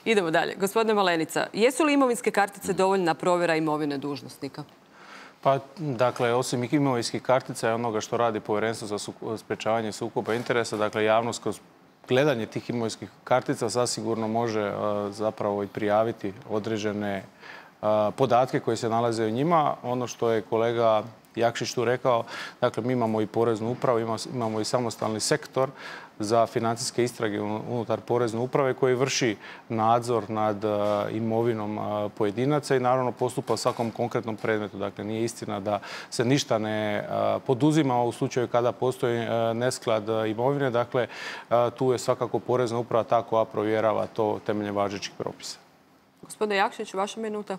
Idemo dalje. Gospodine Malenica, jesu li imovinske kartice dovoljna provjera imovine dužnosnika? Pa, dakle, osim imovinskih kartica i onoga što radi Povjerenstvo za sprečavanje sukoba interesa, dakle, javnost kroz gledanje tih imovinskih kartica zasigurno može zapravo i prijaviti određene podatke koje se nalaze u njima. Ono što je kolega Jakšić tu rekao, dakle, mi imamo i poreznu upravu, imamo i samostalni sektor za financijske istrage unutar porezne uprave koji vrši nadzor nad imovinom pojedinaca i naravno postupa u svakom konkretnom predmetu. Dakle, nije istina da se ništa ne poduzima u slučaju kada postoji nesklad imovine. Dakle, tu je svakako porezna uprava ta koja provjerava to temeljem važećih propisa. Gospodine Jakšić, vaša minuta.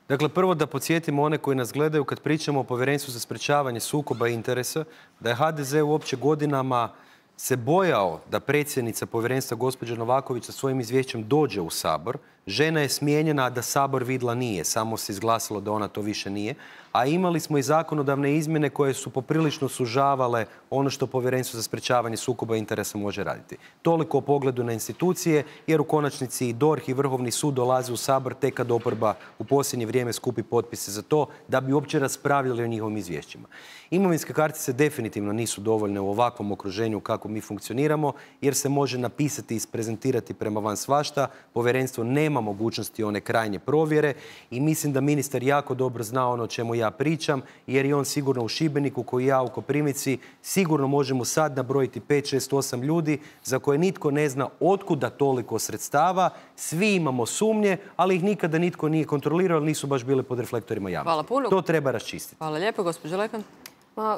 Dakle, prvo da podsjetimo one koji nas gledaju kad pričamo o Povjerenstvu za sprečavanje sukoba interesa, da je H D Z uopće godinama se bojao da predsjednica Povjerenstva gospođa Novaković sa svojim izvješćem dođe u Sabor. Žena je smijenjena, a da Sabor vidla nije. Samo se izglasalo da ona to više nije. A imali smo i zakonodavne izmjene koje su poprilično sužavale ono što Povjerenstvo za sprečavanje sukoba interesa može raditi. Toliko o pogledu na institucije, jer u konačnici i D O R H i Vrhovni sud dolaze u Sabor tek kad oporba u posljednje vrijeme skupi potpise za to da bi uopće raspravljali o njihovim izvješćima. Imovinske kartice definitivno nisu dovoljne u ovakvom okruženju kako mi funkcioniramo, jer se može napisati i isprezentirati prema van svašta. Povjerenstvo nema mogućnosti one krajnje provjere i mislim da ministar jako dobro zna ono o čemu ja pričam, jer je on sigurno u Šibeniku, koji ja u Koprivnici, sigurno možemo sad nabrojiti pet, šest, osam ljudi za koje nitko ne zna otkuda toliko sredstava. Svi imamo sumnje, ali ih nikada nitko nije kontrolirao, nisu baš bile pod reflektorima javnosti. Hvala puno. To treba raščistiti. Hvala lijepo, gospođo Lekan.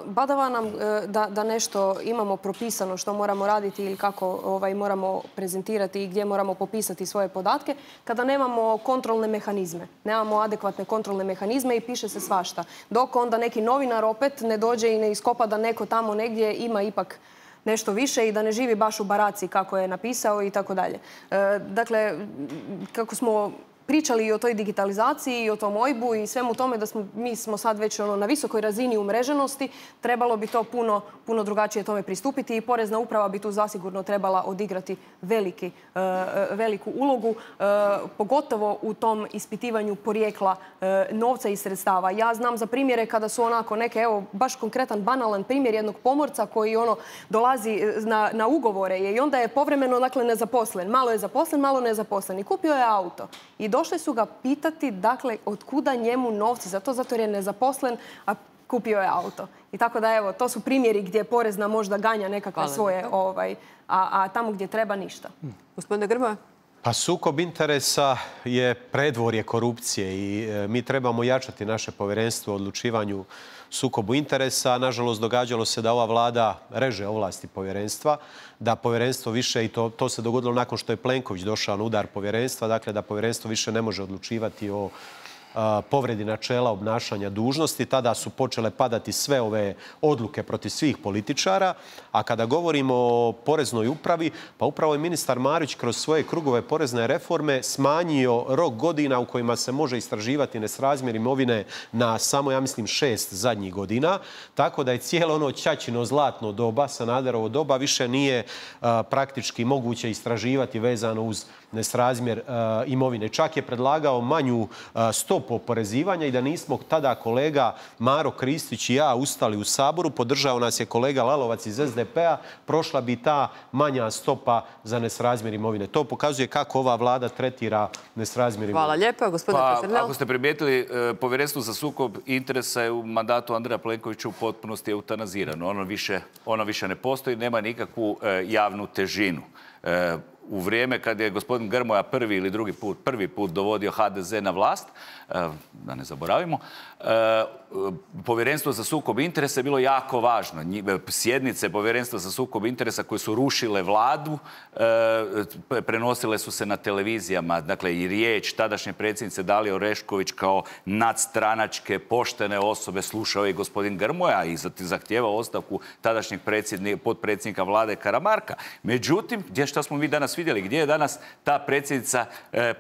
Badava nam da, da nešto imamo propisano što moramo raditi ili kako ovaj, moramo prezentirati i gdje moramo popisati svoje podatke kada nemamo kontrolne mehanizme. Nemamo adekvatne kontrolne mehanizme i piše se svašta. Dok onda neki novinar opet ne dođe i ne iskopa da neko tamo negdje ima ipak nešto više i da ne živi baš u baraci kako je napisao i tako dalje. Dakle, kako smo pričali i o toj digitalizaciji i o tom O I B U i svemu tome da smo, mi smo sad već ono, na visokoj razini umreženosti, trebalo bi to puno, puno drugačije tome pristupiti i Porezna uprava bi tu zasigurno trebala odigrati veliki, uh, veliku ulogu, uh, pogotovo u tom ispitivanju porijekla uh, novca i sredstava. Ja znam za primjere kada su onako neke, evo, baš konkretan, banalan primjer jednog pomorca koji ono dolazi na, na ugovore i onda je povremeno, dakle, nezaposlen. Malo je zaposlen, malo nezaposlen i kupio je auto. I došli su ga pitati, dakle, od kuda njemu novci, zato zato jer je nezaposlen, a kupio je auto. I tako da, evo, to su primjeri gdje Porezna možda ganja nekakve svoje, ovaj, a, a tamo gdje treba ništa. Gospodine Grmoja? Pa sukob interesa je predvorje korupcije i e, mi trebamo jačati naše povjerenstvo o odlučivanju sukobu interesa. Nažalost, događalo se da ova vlada reže ovlasti povjerenstva, da povjerenstvo više, i to, to se dogodilo nakon što je Plenković došao na udar povjerenstva, dakle da povjerenstvo više ne može odlučivati o povredi načela obnašanja dužnosti. Tada su počele padati sve ove odluke protiv svih političara. A kada govorimo o Poreznoj upravi, pa upravo je ministar Marić kroz svoje krugove porezne reforme smanjio rok godina u kojima se može istraživati nesrazmjer imovine na samo, ja mislim, šest zadnjih godina. Tako da je cijelo ono ćaćino zlatno doba, Sanaderovo doba, više nije a, praktički moguće istraživati vezano uz nesrazmjer a, imovine. Čak je predlagao manju a, stopu oporezivanja i da nismo tada kolega Maro Kristić i ja ustali u Saboru, podržao nas je kolega Lalovac iz S D P-a, prošla bi ta manja stopa za nesrazmjer imovine. To pokazuje kako ova vlada tretira nesrazmjer imovine. Hvala lijepa. Gospodine Pa, Peternel. ako ste primijetili, povjerenstvo za sukob interesa je u mandatu Andreja Plenkovića u potpunosti eutanazirano. Ono više, ono više ne postoji, nema nikakvu e, javnu težinu. E, u vrijeme kad je gospodin Grmoja prvi ili drugi put, prvi put dovodio H D Z na vlast, da ne zaboravimo, povjerenstvo za sukob interesa je bilo jako važno. Sjednice povjerenstva za sukob interesa koje su rušile vladu, prenosile su se na televizijama. Dakle, i riječ tadašnje predsjednice Dalije Orešković kao nadstranačke, poštene osobe slušao je i gospodin Grmoja i zahtijevao ostavku tadašnjeg potpredsjednika vlade Karamarka. Međutim, gdje što smo mi danas vidjeli, gdje je danas ta predsjednica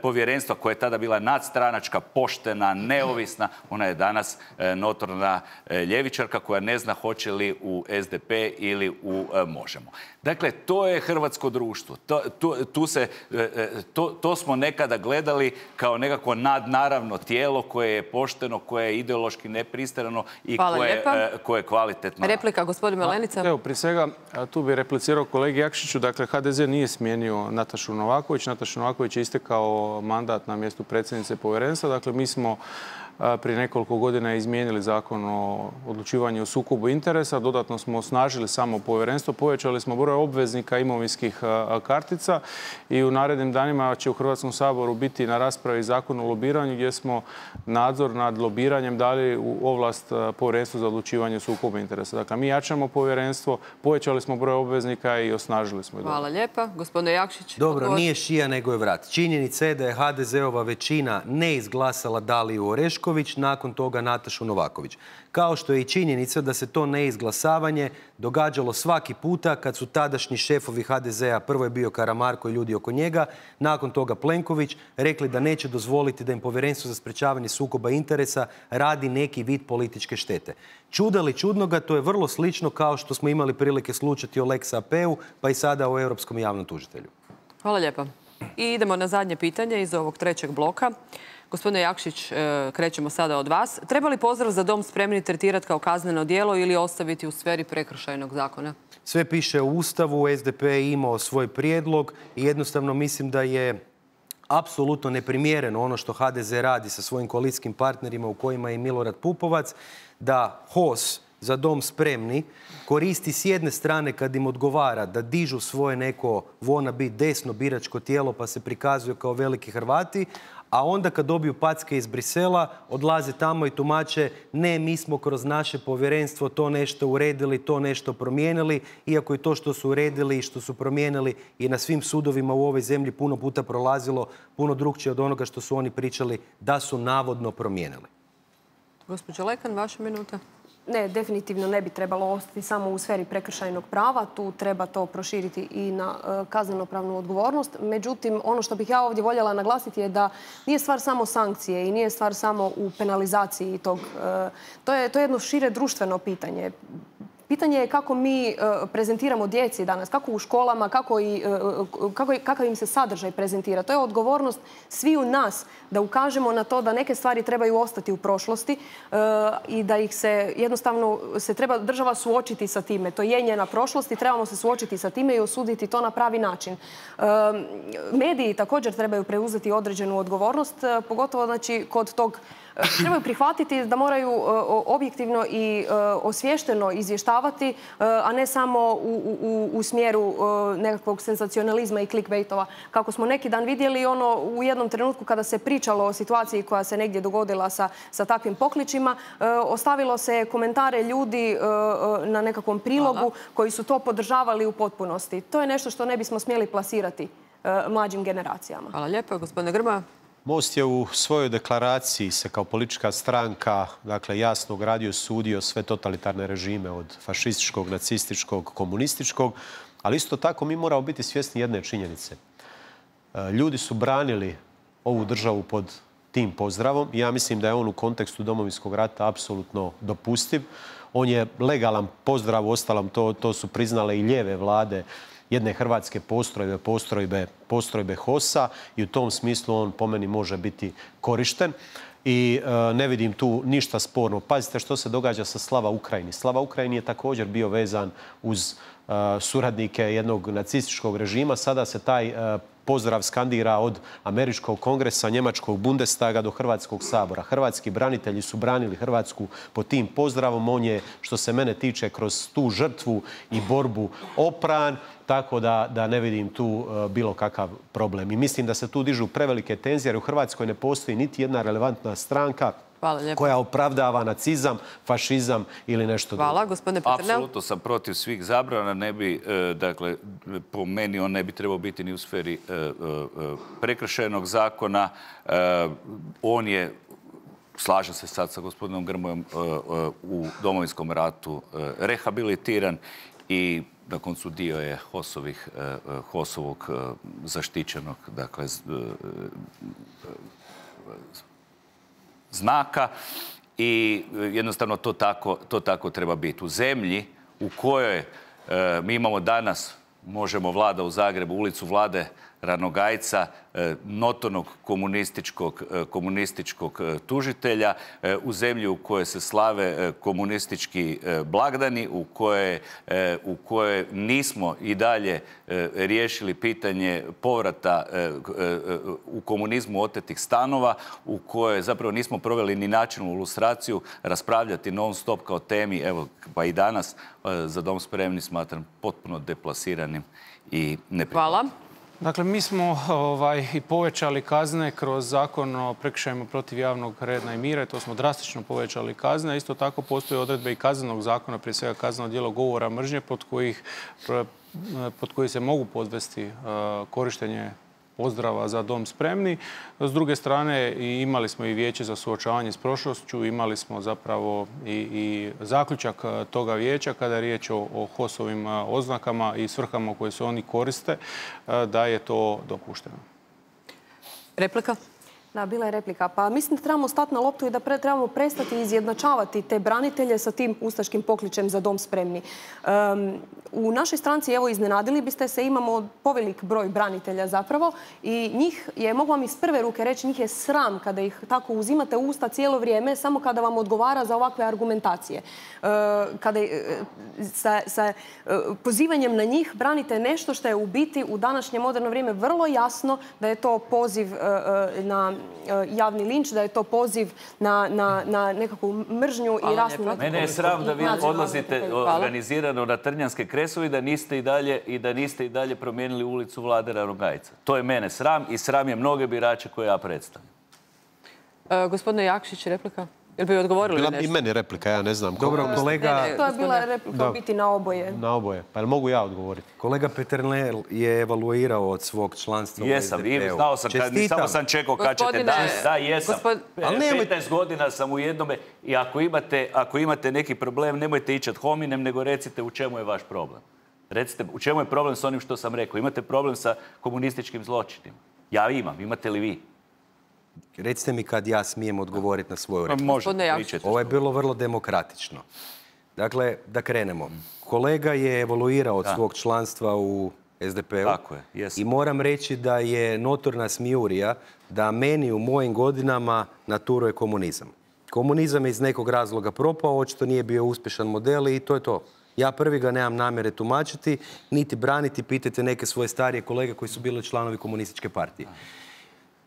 povjerenstva koja je tada bila nadstranačka, poštena, neovisna, ona je danas notorna ljevičarka koja ne zna hoće li u S D P ili u Možemo. Dakle, to je hrvatsko društvo. To, tu, tu se, to, to smo nekada gledali kao nekako nadnaravno tijelo koje je pošteno, koje je ideološki nepristrano i koje, koje je kvalitetno. Replika, gospodin Malenica. Evo, prije svega, tu bi replicirao kolegi Jakšiću. Dakle, H D Z nije smijenio Natašu Novaković. Nataša Novaković je istekao mandat na mjestu predsjednice povjerenstva. Dakle, mi smo prije nekoliko godina izmijenili zakon o odlučivanju o sukobu interesa. Dodatno smo osnažili samo povjerenstvo. Povećali smo broj obveznika imovinskih kartica i u narednim danima će u Hrvatskom saboru biti na raspravi zakon o lobiranju gdje smo nadzor nad lobiranjem dali u ovlast povjerenstvu za odlučivanje o sukobu interesa. Dakle, mi jačamo povjerenstvo, povećali smo broj obveznika i osnažili smo. Hvala lijepa. Gospodine Jakšić. Dobro, odgovor. Nije šija nego je vrat. Činjenica je da je H D Z-ova većina ne izglasala Daliju Orešković, nakon toga Natašu Novaković. Kao što je i činjenica da se to neizglasavanje događalo svaki puta kad su tadašnji šefovi H D Z-a, prvo je bio Karamarko i ljudi oko njega, nakon toga Plenković, rekli da neće dozvoliti da im Povjerenstvo za sprečavanje sukoba interesa radi neki vid političke štete. Čuda li čudnoga, to je vrlo slično kao što smo imali prilike slušati o Lex A P-u, pa i sada o Europskom javnom tužitelju. Hvala lijepa. I idemo na zadnje pitanje iz ovog trećeg bloka. Gospodine Jakšić, krećemo sada od vas. Treba li pozdrav za dom spremni tretirati kao kazneno djelo ili ostaviti u sferi prekršajnog zakona? Sve piše u Ustavu, S D P je imao svoj prijedlog i jednostavno mislim da je apsolutno neprimjereno ono što H D Z radi sa svojim koalicijskim partnerima u kojima je Milorad Pupovac, da H O S Za dom spremni koristi s jedne strane kad im odgovara da dižu svoje neko wannabe desno biračko tijelo pa se prikazuju kao veliki Hrvati, a onda kad dobiju packe iz Brisela odlaze tamo i tumače ne, mi smo kroz naše povjerenstvo to nešto uredili, to nešto promijenili, iako i to što su uredili i što su promijenili i na svim sudovima u ovoj zemlji puno puta prolazilo puno drukčije od onoga što su oni pričali da su navodno promijenili. Gospođo Lekan, vaša minuta. Ne, definitivno ne bi trebalo ostati samo u sferi prekršajnog prava. Tu treba to proširiti i na e, kaznenopravnu odgovornost. Međutim, ono što bih ja ovdje voljela naglasiti je da nije stvar samo sankcije i nije stvar samo u penalizaciji tog. E, to je, to je jedno šire društveno pitanje. Pitanje je kako mi prezentiramo djeci danas, kako u školama, kako i, kako, kakav im se sadržaj prezentira. To je odgovornost svi u nas da ukažemo na to da neke stvari trebaju ostati u prošlosti i da ih se jednostavno se treba država suočiti sa time. To je njena prošlost i trebamo se suočiti sa time i osuditi to na pravi način. Mediji također trebaju preuzeti određenu odgovornost, pogotovo znači kod tog trebaju prihvatiti da moraju objektivno i osviješteno izvještavati, a ne samo u, u, u smjeru nekakvog senzacionalizma i clickbaitova. Kako smo neki dan vidjeli ono u jednom trenutku kada se pričalo o situaciji koja se negdje dogodila sa, sa takvim pokličima, ostavilo se komentare ljudi na nekakvom prilogu Hvala. Koji su to podržavali u potpunosti. To je nešto što ne bismo smjeli plasirati mlađim generacijama. Hvala lijepo. Gospodine Grmoja. Most je u svojoj deklaraciji se kao politička stranka dakle, jasno ogradio i sudio sve totalitarne režime od fašističkog, nacističkog, komunističkog, ali isto tako mi moramo biti svjesni jedne činjenice. Ljudi su branili ovu državu pod tim pozdravom i ja mislim da je on u kontekstu Domovinskog rata apsolutno dopustiv. On je legalan pozdrav, uostalom to, to su priznale i lijeve vlade jedne hrvatske postrojbe, postrojbe, postrojbe H O S-a i u tom smislu on po meni može biti korišten. I e, ne vidim tu ništa sporno. Pazite što se događa sa Slava Ukrajini. Slava Ukrajini je također bio vezan uz e, suradnike jednog nacističkog režima. Sada se taj e, pozdrav skandira od američkog kongresa, njemačkog Bundestaga do Hrvatskog sabora. Hrvatski branitelji su branili Hrvatsku pod tim pozdravom. On je, što se mene tiče, kroz tu žrtvu i borbu opran, tako da, da ne vidim tu uh, bilo kakav problem. I mislim da se tu dižu prevelike tenzije, jer u Hrvatskoj ne postoji niti jedna relevantna stranka koja opravdava nacizam, fašizam ili nešto drugo. Hvala, gospodine Peternel. Apsolutno sam protiv svih zabrana. Ne bi, e, dakle, po meni on ne bi trebao biti ni u sferi e, e, prekršajnog zakona. E, on je, slažem se sad sa gospodinom Grmojom, e, e, u Domovinskom ratu e, rehabilitiran i na koncu dio je H O S-ovih, e, H O S-ovog e, zaštićenog, dakle, z, e, e, znaka i jednostavno to tako, to tako treba biti. U zemlji u kojoj e, mi imamo danas, možemo Vlada u Zagrebu, ulicu Vlade Ranogajca, e, notornog komunističkog, e, komunističkog e, tužitelja, e, u zemlji u kojoj se slave e, komunistički e, blagdani, u kojoj, e, u kojoj nismo i dalje e, riješili pitanje povrata e, e, u komunizmu otetih stanova, u kojoj zapravo nismo proveli ni načinu lustraciju, raspravljati non stop kao temi, evo pa i danas, e, za dom spremni smatram potpuno deplasiranim i neprihvatljivim. Hvala. Dakle, mi smo ovaj, i povećali kazne kroz zakon o prekršajima protiv javnog reda i mira i to smo drastično povećali kazne. Isto tako postoje odredbe i kaznenog zakona, prije svega kazneno djelo govora mržnje pod kojih, pod koji se mogu podvesti uh, korištenje pozdrava za dom spremni. S druge strane, imali smo i vijeće za suočavanje s prošlošću, imali smo zapravo i, i zaključak toga vijeća kada je riječ o, o H O S-ovim oznakama i svrhama koje se oni koriste, da je to dopušteno. Replika? Da, bila je replika. Pa mislim da trebamo stati na loptu i da pre, trebamo prestati izjednačavati te branitelje sa tim ustaškim pokličem za dom spremni. Um, u našoj stranci, evo, iznenadili biste se, imamo povelik broj branitelja zapravo i njih je, mogu vam iz prve ruke reći, njih je sram kada ih tako uzimate u usta cijelo vrijeme, samo kada vam odgovara za ovakve argumentacije. Uh, kada sa, sa uh, pozivanjem na njih branite nešto što je u biti u današnje moderno vrijeme vrlo jasno da je to poziv uh, na javni linč, da je to poziv na, na, na nekakvu mržnju i rasnu. Mene je sram da vi odlazite organizirano na Trnjanske Kresovi da niste i dalje i da niste i dalje promijenili ulicu Vlade Ranogajca. To je mene sram i sram je mnoge birače koje ja predstavljam. E, gospodine Jakšić, replika? Jel bi odgovorili bila nešto? Bila i meni replika, ja ne znam. Dobro, kolega... Ne, ne, to je bila replika biti na oboje. Na oboje. Pa jel mogu ja odgovoriti? Kolega Peternel je evaluirao od svog članstva jesam, u es de pe u. Znao sam, kad, samo sam čekao kad ćete da. Da, jesam. Gospod... petnaest godina sam u jednome i ako imate, ako imate neki problem, nemojte ići ad hominem, nego recite u čemu je vaš problem. Recite, u čemu je problem s onim što sam rekao. Imate problem sa komunističkim zločinima. Ja imam, imate li vi? Recite mi kad ja smijem odgovoriti na svoju repliku. Možete, pričajte. Ovo je bilo vrlo demokratično. Dakle, da krenemo. Kolega je evoluirao od svog članstva u es de pe u. Tako je, jesam. I moram reći da je notorna smijurija da meni u mojim godinama naturuje komunizam. Komunizam je iz nekog razloga propao, očito nije bio uspješan model i to je to. Ja prvi ga nemam namjere tumačiti, niti braniti, pitajte neke svoje starije kolege koji su bili članovi komunističke partije.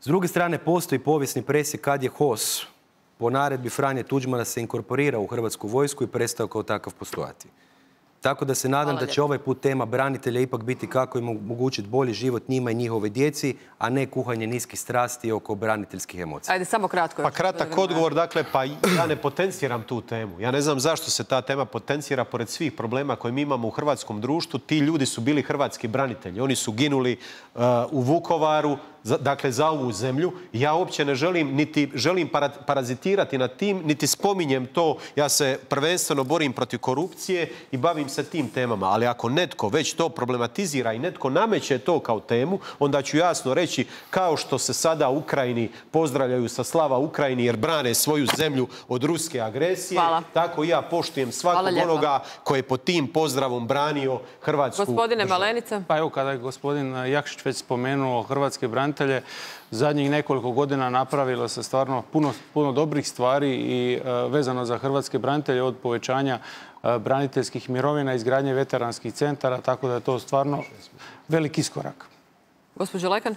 S druge strane, postoji povijesni presjek kad je H O S po naredbi Franje Tuđmana se inkorporirao u Hrvatsku vojsku i prestao kao takav postojati. Tako da se nadam da će ovaj put tema branitelja ipak biti kako im omogućiti bolji život njima i njihove djeci, a ne kuhanje niskih strasti oko braniteljskih emocija. Ajde, samo kratko. Pa kratak odgovor, dakle, pa ja ne potenciram tu temu. Ja ne znam zašto se ta tema potencira pored svih problema koje mi imamo u hrvatskom društvu. Ti ljudi su bili hrvatski branitelji. Oni su ginuli uh, u Vukovaru, za, dakle, za ovu zemlju. Ja uopće ne želim, niti želim para, parazitirati nad tim, niti spominjem to. Ja se prvenstveno borim protiv korupcije i bavim se tim temama. Ali ako netko već to problematizira i netko nameće to kao temu, onda ću jasno reći, kao što se sada u Ukrajini pozdravljaju sa slava Ukrajini jer brane svoju zemlju od ruske agresije, hvala. Tako i ja poštujem svakog onoga koji je pod tim pozdravom branio Hrvatsku Gospodine državu. Malenica. Pa evo, kada je gospodin Jakšić već spomenuo hrvatske branitelje, zadnjih nekoliko godina napravilo se stvarno puno, puno dobrih stvari i uh, vezano za hrvatske branitelje od povećanja uh, braniteljskih mirovina, izgradnje veteranskih centara, tako da je to stvarno veliki iskorak. Gospođo Lekan?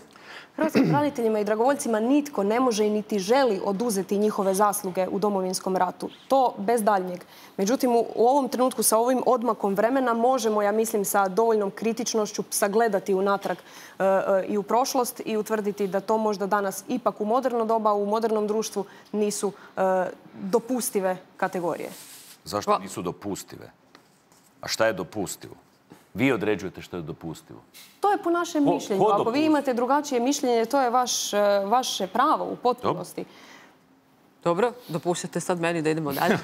Hrvatskim braniteljima i dragovoljcima nitko ne može i niti želi oduzeti njihove zasluge u Domovinskom ratu. To bez daljnjeg. Međutim, u ovom trenutku sa ovim odmakom vremena možemo, ja mislim, sa dovoljnom kritičnošću sagledati unatrag e, e, i u prošlost i utvrditi da to možda danas ipak u moderno doba, u modernom društvu nisu e, dopustive kategorije. Zašto nisu dopustive? A šta je dopustivo? Vi određujete što je dopustivo. To je po našem ko, mišljenju. Ko Ako vi imate drugačije mišljenje, to je vaš, vaše pravo u potpunosti. Dobro, Dobro dopuštate sad meni da idemo dalje.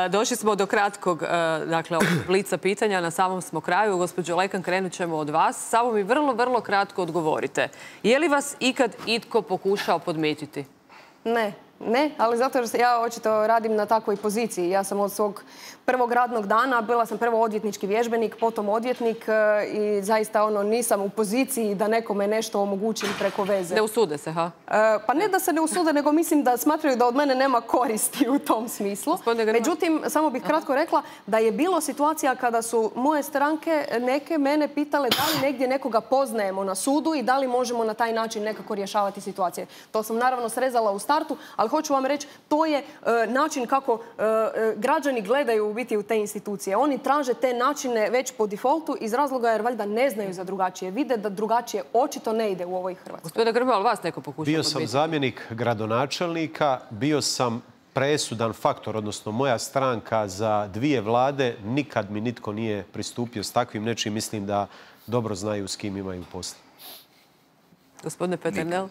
Došli smo do kratkog dakle, blica pitanja. Na samom smo kraju. Gospođo Lekan, krenut ćemo od vas. Samo mi vrlo, vrlo kratko odgovorite. Je li vas ikad itko pokušao podmititi? Ne. Ne, ali zato jer ja očito radim na takvoj poziciji. Ja sam od svog prvog radnog dana, bila sam prvo odvjetnički vježbenik, potom odvjetnik i zaista ono nisam u poziciji da nekome nešto omogućim preko veze. Ne usude se, ha? Pa ne da se ne usude, nego mislim da smatraju da od mene nema koristi u tom smislu. Međutim, samo bih kratko rekla da je bilo situacija kada su moje stranke neke mene pitale da li negdje nekoga poznajemo na sudu i da li možemo na taj način nekako rješavati situacije. To sam naravno srezala u startu, ali hoću vam reći, to je e, način kako e, građani gledaju u biti u te institucije. Oni traže te načine već po defaultu iz razloga jer valjda ne znaju za drugačije. Vide da drugačije očito ne ide u ovoj Hrvatskoj. Gospodine Grmoja, ali vas neko pokušao Bio sam podbiti? zamjenik gradonačelnika, bio sam presudan faktor, odnosno moja stranka za dvije vlade. Nikad mi nitko nije pristupio s takvim nečim. Mislim da dobro znaju s kim imaju posla. Gospodine Peternel?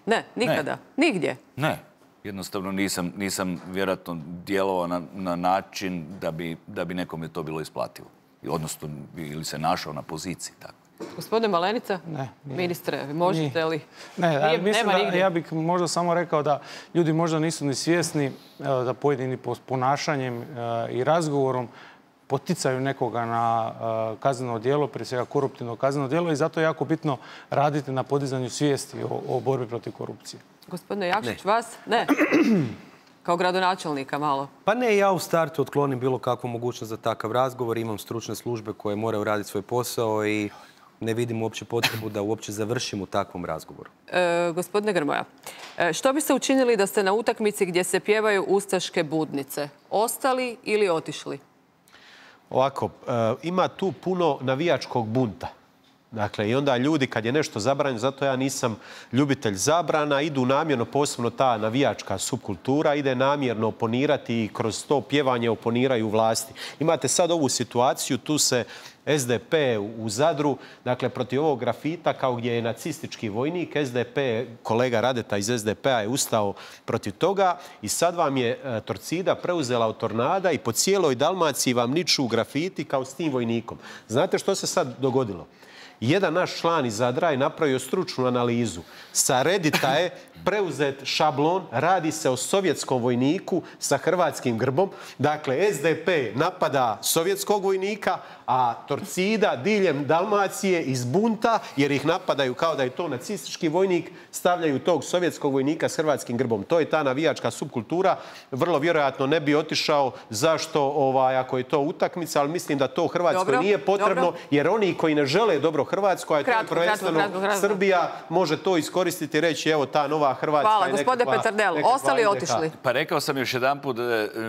Ne, nikada. Ne. Nigdje? Ne. Jednostavno nisam, nisam vjerojatno djelovao na, na način da bi, da bi nekome to bilo isplativo. Odnosno, ili se našao na poziciji. Tako. Gospodine Malenica, ne, ministre, možete li? Ne, nije, mislim da, ja bih možda samo rekao da ljudi možda nisu ni svjesni da pojedini ponašanjem i razgovorom poticaju nekoga na uh, kazneno djelo, prije svega koruptivno kazneno djelo i zato je jako bitno raditi na podizanju svijesti o, o borbi protiv korupcije. Gospodine Jakšić, ne. vas? Ne. Kao gradonačelnika malo. Pa ne, ja u startu otklonim bilo kakvu mogućnost za takav razgovor. Imam stručne službe koje moraju raditi svoj posao i ne vidim uopće potrebu da uopće završim u takvom razgovoru. E, gospodine Grmoja, e, što biste učinili da ste na utakmici gdje se pjevaju ustaške budnice? Ostali ili otišli? Ovako, e, ima tu puno navijačkog bunta. Dakle, i onda ljudi, kad je nešto zabranjeno, zato ja nisam ljubitelj zabrana, idu namjerno, posebno ta navijačka subkultura, ide namjerno oponirati i kroz to pjevanje oponiraju vlasti. Imate sad ovu situaciju, tu se S D P u Zadru, dakle, protiv ovog grafita, kao gdje je nacistički vojnik, S D P, kolega Radeta iz S D P-a je ustao protiv toga i sad vam je Torcida preuzela od Tornada i po cijeloj Dalmaciji vam niču grafiti kao s tim vojnikom. Znate što se sad dogodilo? Jedan naš član iz Zadra je napravio stručnu analizu. Sa Reddita je preuzet šablon, radi se o sovjetskom vojniku sa hrvatskim grbom. Dakle, S D P napada sovjetskog vojnika, a Torcida diljem Dalmacije iz bunta, jer ih napadaju kao da je to nacistički vojnik, stavljaju tog sovjetskog vojnika s hrvatskim grbom. To je ta navijačka subkultura. Vrlo vjerojatno ne bi otišao. Zašto, ovaj, ako je to utakmica, ali mislim da to Hrvatskoj dobro, nije potrebno, dobro. Jer oni koji ne žele dobro Hrvatskoj, a to je prvenstveno Srbija, može to iskoristiti i reći, evo ta nova Hrvatska. Hvala, gospodine Petardel. Ostali otišli? Pa rekao sam još jedan put,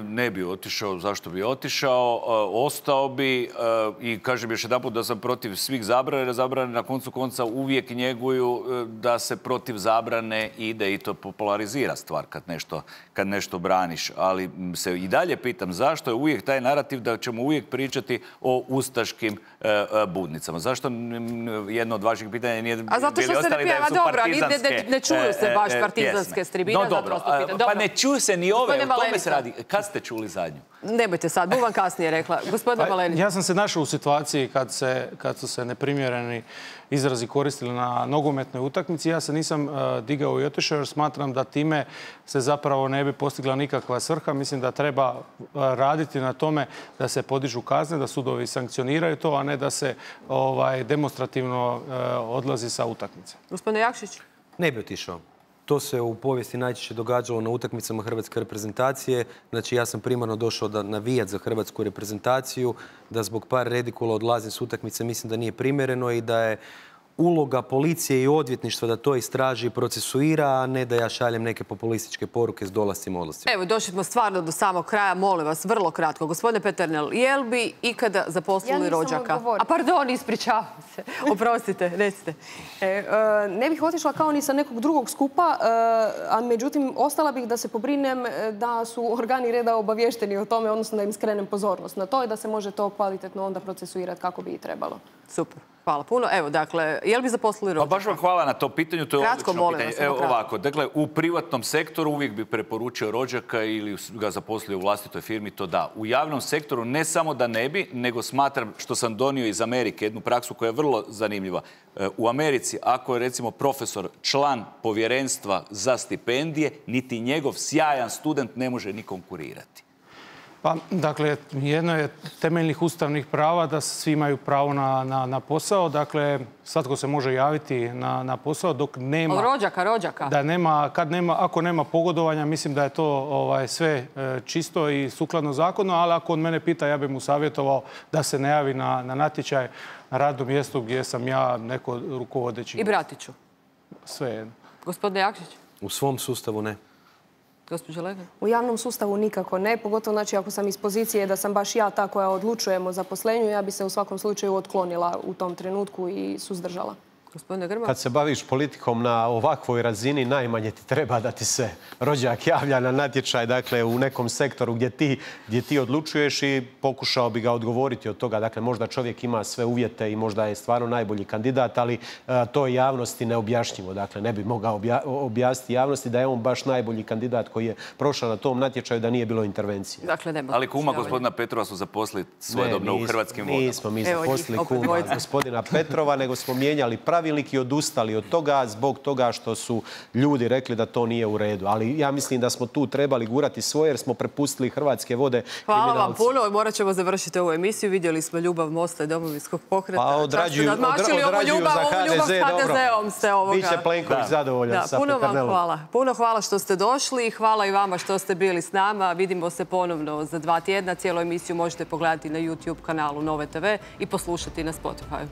ne bi otišao. Zašto bi otišao? Ostao bi i kažem još jedan put da sam protiv svih zabrane, jer zabrane na koncu konca uvijek njeguju da se protiv zabrane ide i to popularizira stvar kad nešto, kad nešto braniš. Ali se i dalje pitam zašto je uvijek taj narativ da ćemo uvijek pričati o ustaškim budnicama. Zašto jedno od vaših pitanja nije bili ostali da su partizanske pjesme? A zato što se ne pjeva, dobro, ne, ne čuju se baš partizanske s tribina. No dobro, pa ne čuju se ni ove, o tome se radi. Kad ste čuli zadnju? Nemojte sad, bu vam kasnije rekla. Gospodine Malenica. Ja sam se našao u situaciji kad, se, kad su se neprimjereni izrazi koristili na nogometnoj utakmici. Ja se nisam uh, digao i otišao jer smatram da time se zapravo ne bi postigla nikakva svrha. Mislim da treba uh, raditi na tome da se podižu kazne, da sudovi sankcioniraju to, a ne da se ovaj, demonstrativno uh, odlazi sa utakmice. Gospodine Jakšić? Ne bi otišao. To se u povijesti najčešće događalo na utakmicama hrvatske reprezentacije. Znači, ja sam primarno došao da navijat za hrvatsku reprezentaciju, da zbog par redikula odlazim s utakmice, mislim da nije primjereno i da je uloga policije i odvjetništva da to istraži i procesuira, a ne da ja šaljem neke populističke poruke s dolascima i odlascima. Evo, došli smo stvarno do samog kraja. Molim vas, vrlo kratko. Gospodine Peternel, je li bi ikada zaposlili rođaka? A pardon, ispričavam se. Oprostite, recite. E, e, ne bih otišla kao ni sa nekog drugog skupa, e, a međutim, ostala bih da se pobrinem da su organi reda obavješteni o tome, odnosno da im skrenem pozornost na to i da se može to kvalitetno onda procesuirati kako bi i trebalo. Super. Hvala puno. Evo, dakle, je li bi zaposlili rođaka? Pa baš vam hvala na to pitanju, to je kratko, odlično molim pitanje. vas, Evo ovako, dakle, u privatnom sektoru uvijek bi preporučio rođaka ili ga zaposlio u vlastitoj firmi, to da. U javnom sektoru ne samo da ne bi, nego smatram, što sam donio iz Amerike, jednu praksu koja je vrlo zanimljiva. U Americi, ako je recimo profesor član povjerenstva za stipendije, niti njegov sjajan student ne može ni konkurirati. Pa, dakle, jedno je temeljnih ustavnih prava da svi imaju pravo na, na, na posao. Dakle, svatko se može javiti na, na posao dok nema... Od rođaka, rođaka. Da nema, kad nema, ako nema pogodovanja, mislim da je to ovaj, sve e, čisto i sukladno zakonu, ali ako od mene pita, ja bih mu savjetovao da se ne javi na, na natječaj na radno mjesto gdje sam ja neko rukovodeći. I bratiću. Sve jedno. Gospodine Jakšić? U svom sustavu ne. Gospođa Lega? U javnom sustavu nikako ne, pogotovo znači ako sam iz pozicije da sam baš ja ta koja odlučujem o zaposlenju, ja bi se u svakom slučaju otklonila u tom trenutku i suzdržala. Gospodine Grmoja? Kad se baviš politikom na ovakvoj razini, najmanje ti treba da ti se rođak javlja na natječaj, dakle u nekom sektoru gdje ti, gdje ti odlučuješ i pokušao bi ga odgovoriti od toga. Dakle, možda čovjek ima sve uvjete i možda je stvarno najbolji kandidat, ali a, to je javnosti neobjašnjivo. Dakle, ne bi mogao obja, objasniti javnosti da je on baš najbolji kandidat koji je prošao na tom natječaju da nije bilo intervencije. Dakle, nema. Ali kuma gospodina Petrova su zaposlili svojedobno u Hrvatskim vodama. Nismo mi zaposlili kuma gospodina Petrova, nego smo mijenjali pravilnik i odustali od toga zbog toga što su ljudi rekli da to nije u redu. Ali ja mislim da smo tu trebali gurati svoje jer smo prepustili Hrvatske vode kriminalci. Hvala vam puno. Morat ćemo završiti ovu emisiju. Vidjeli smo ljubav Mosta i Domovinskog pokreta. Pa odrađuju, odrađuju ljubav, za ha de ze, dobro. Ste ovoga. Biće Plenković da. zadovoljan da, sa puno Peternelom. Vam hvala. Puno hvala što ste došli i hvala i vama što ste bili s nama. Vidimo se ponovno za dva tjedna. Cijelu emisiju možete pogledati na YouTube kanalu Nove te ve i poslušati na Spotify.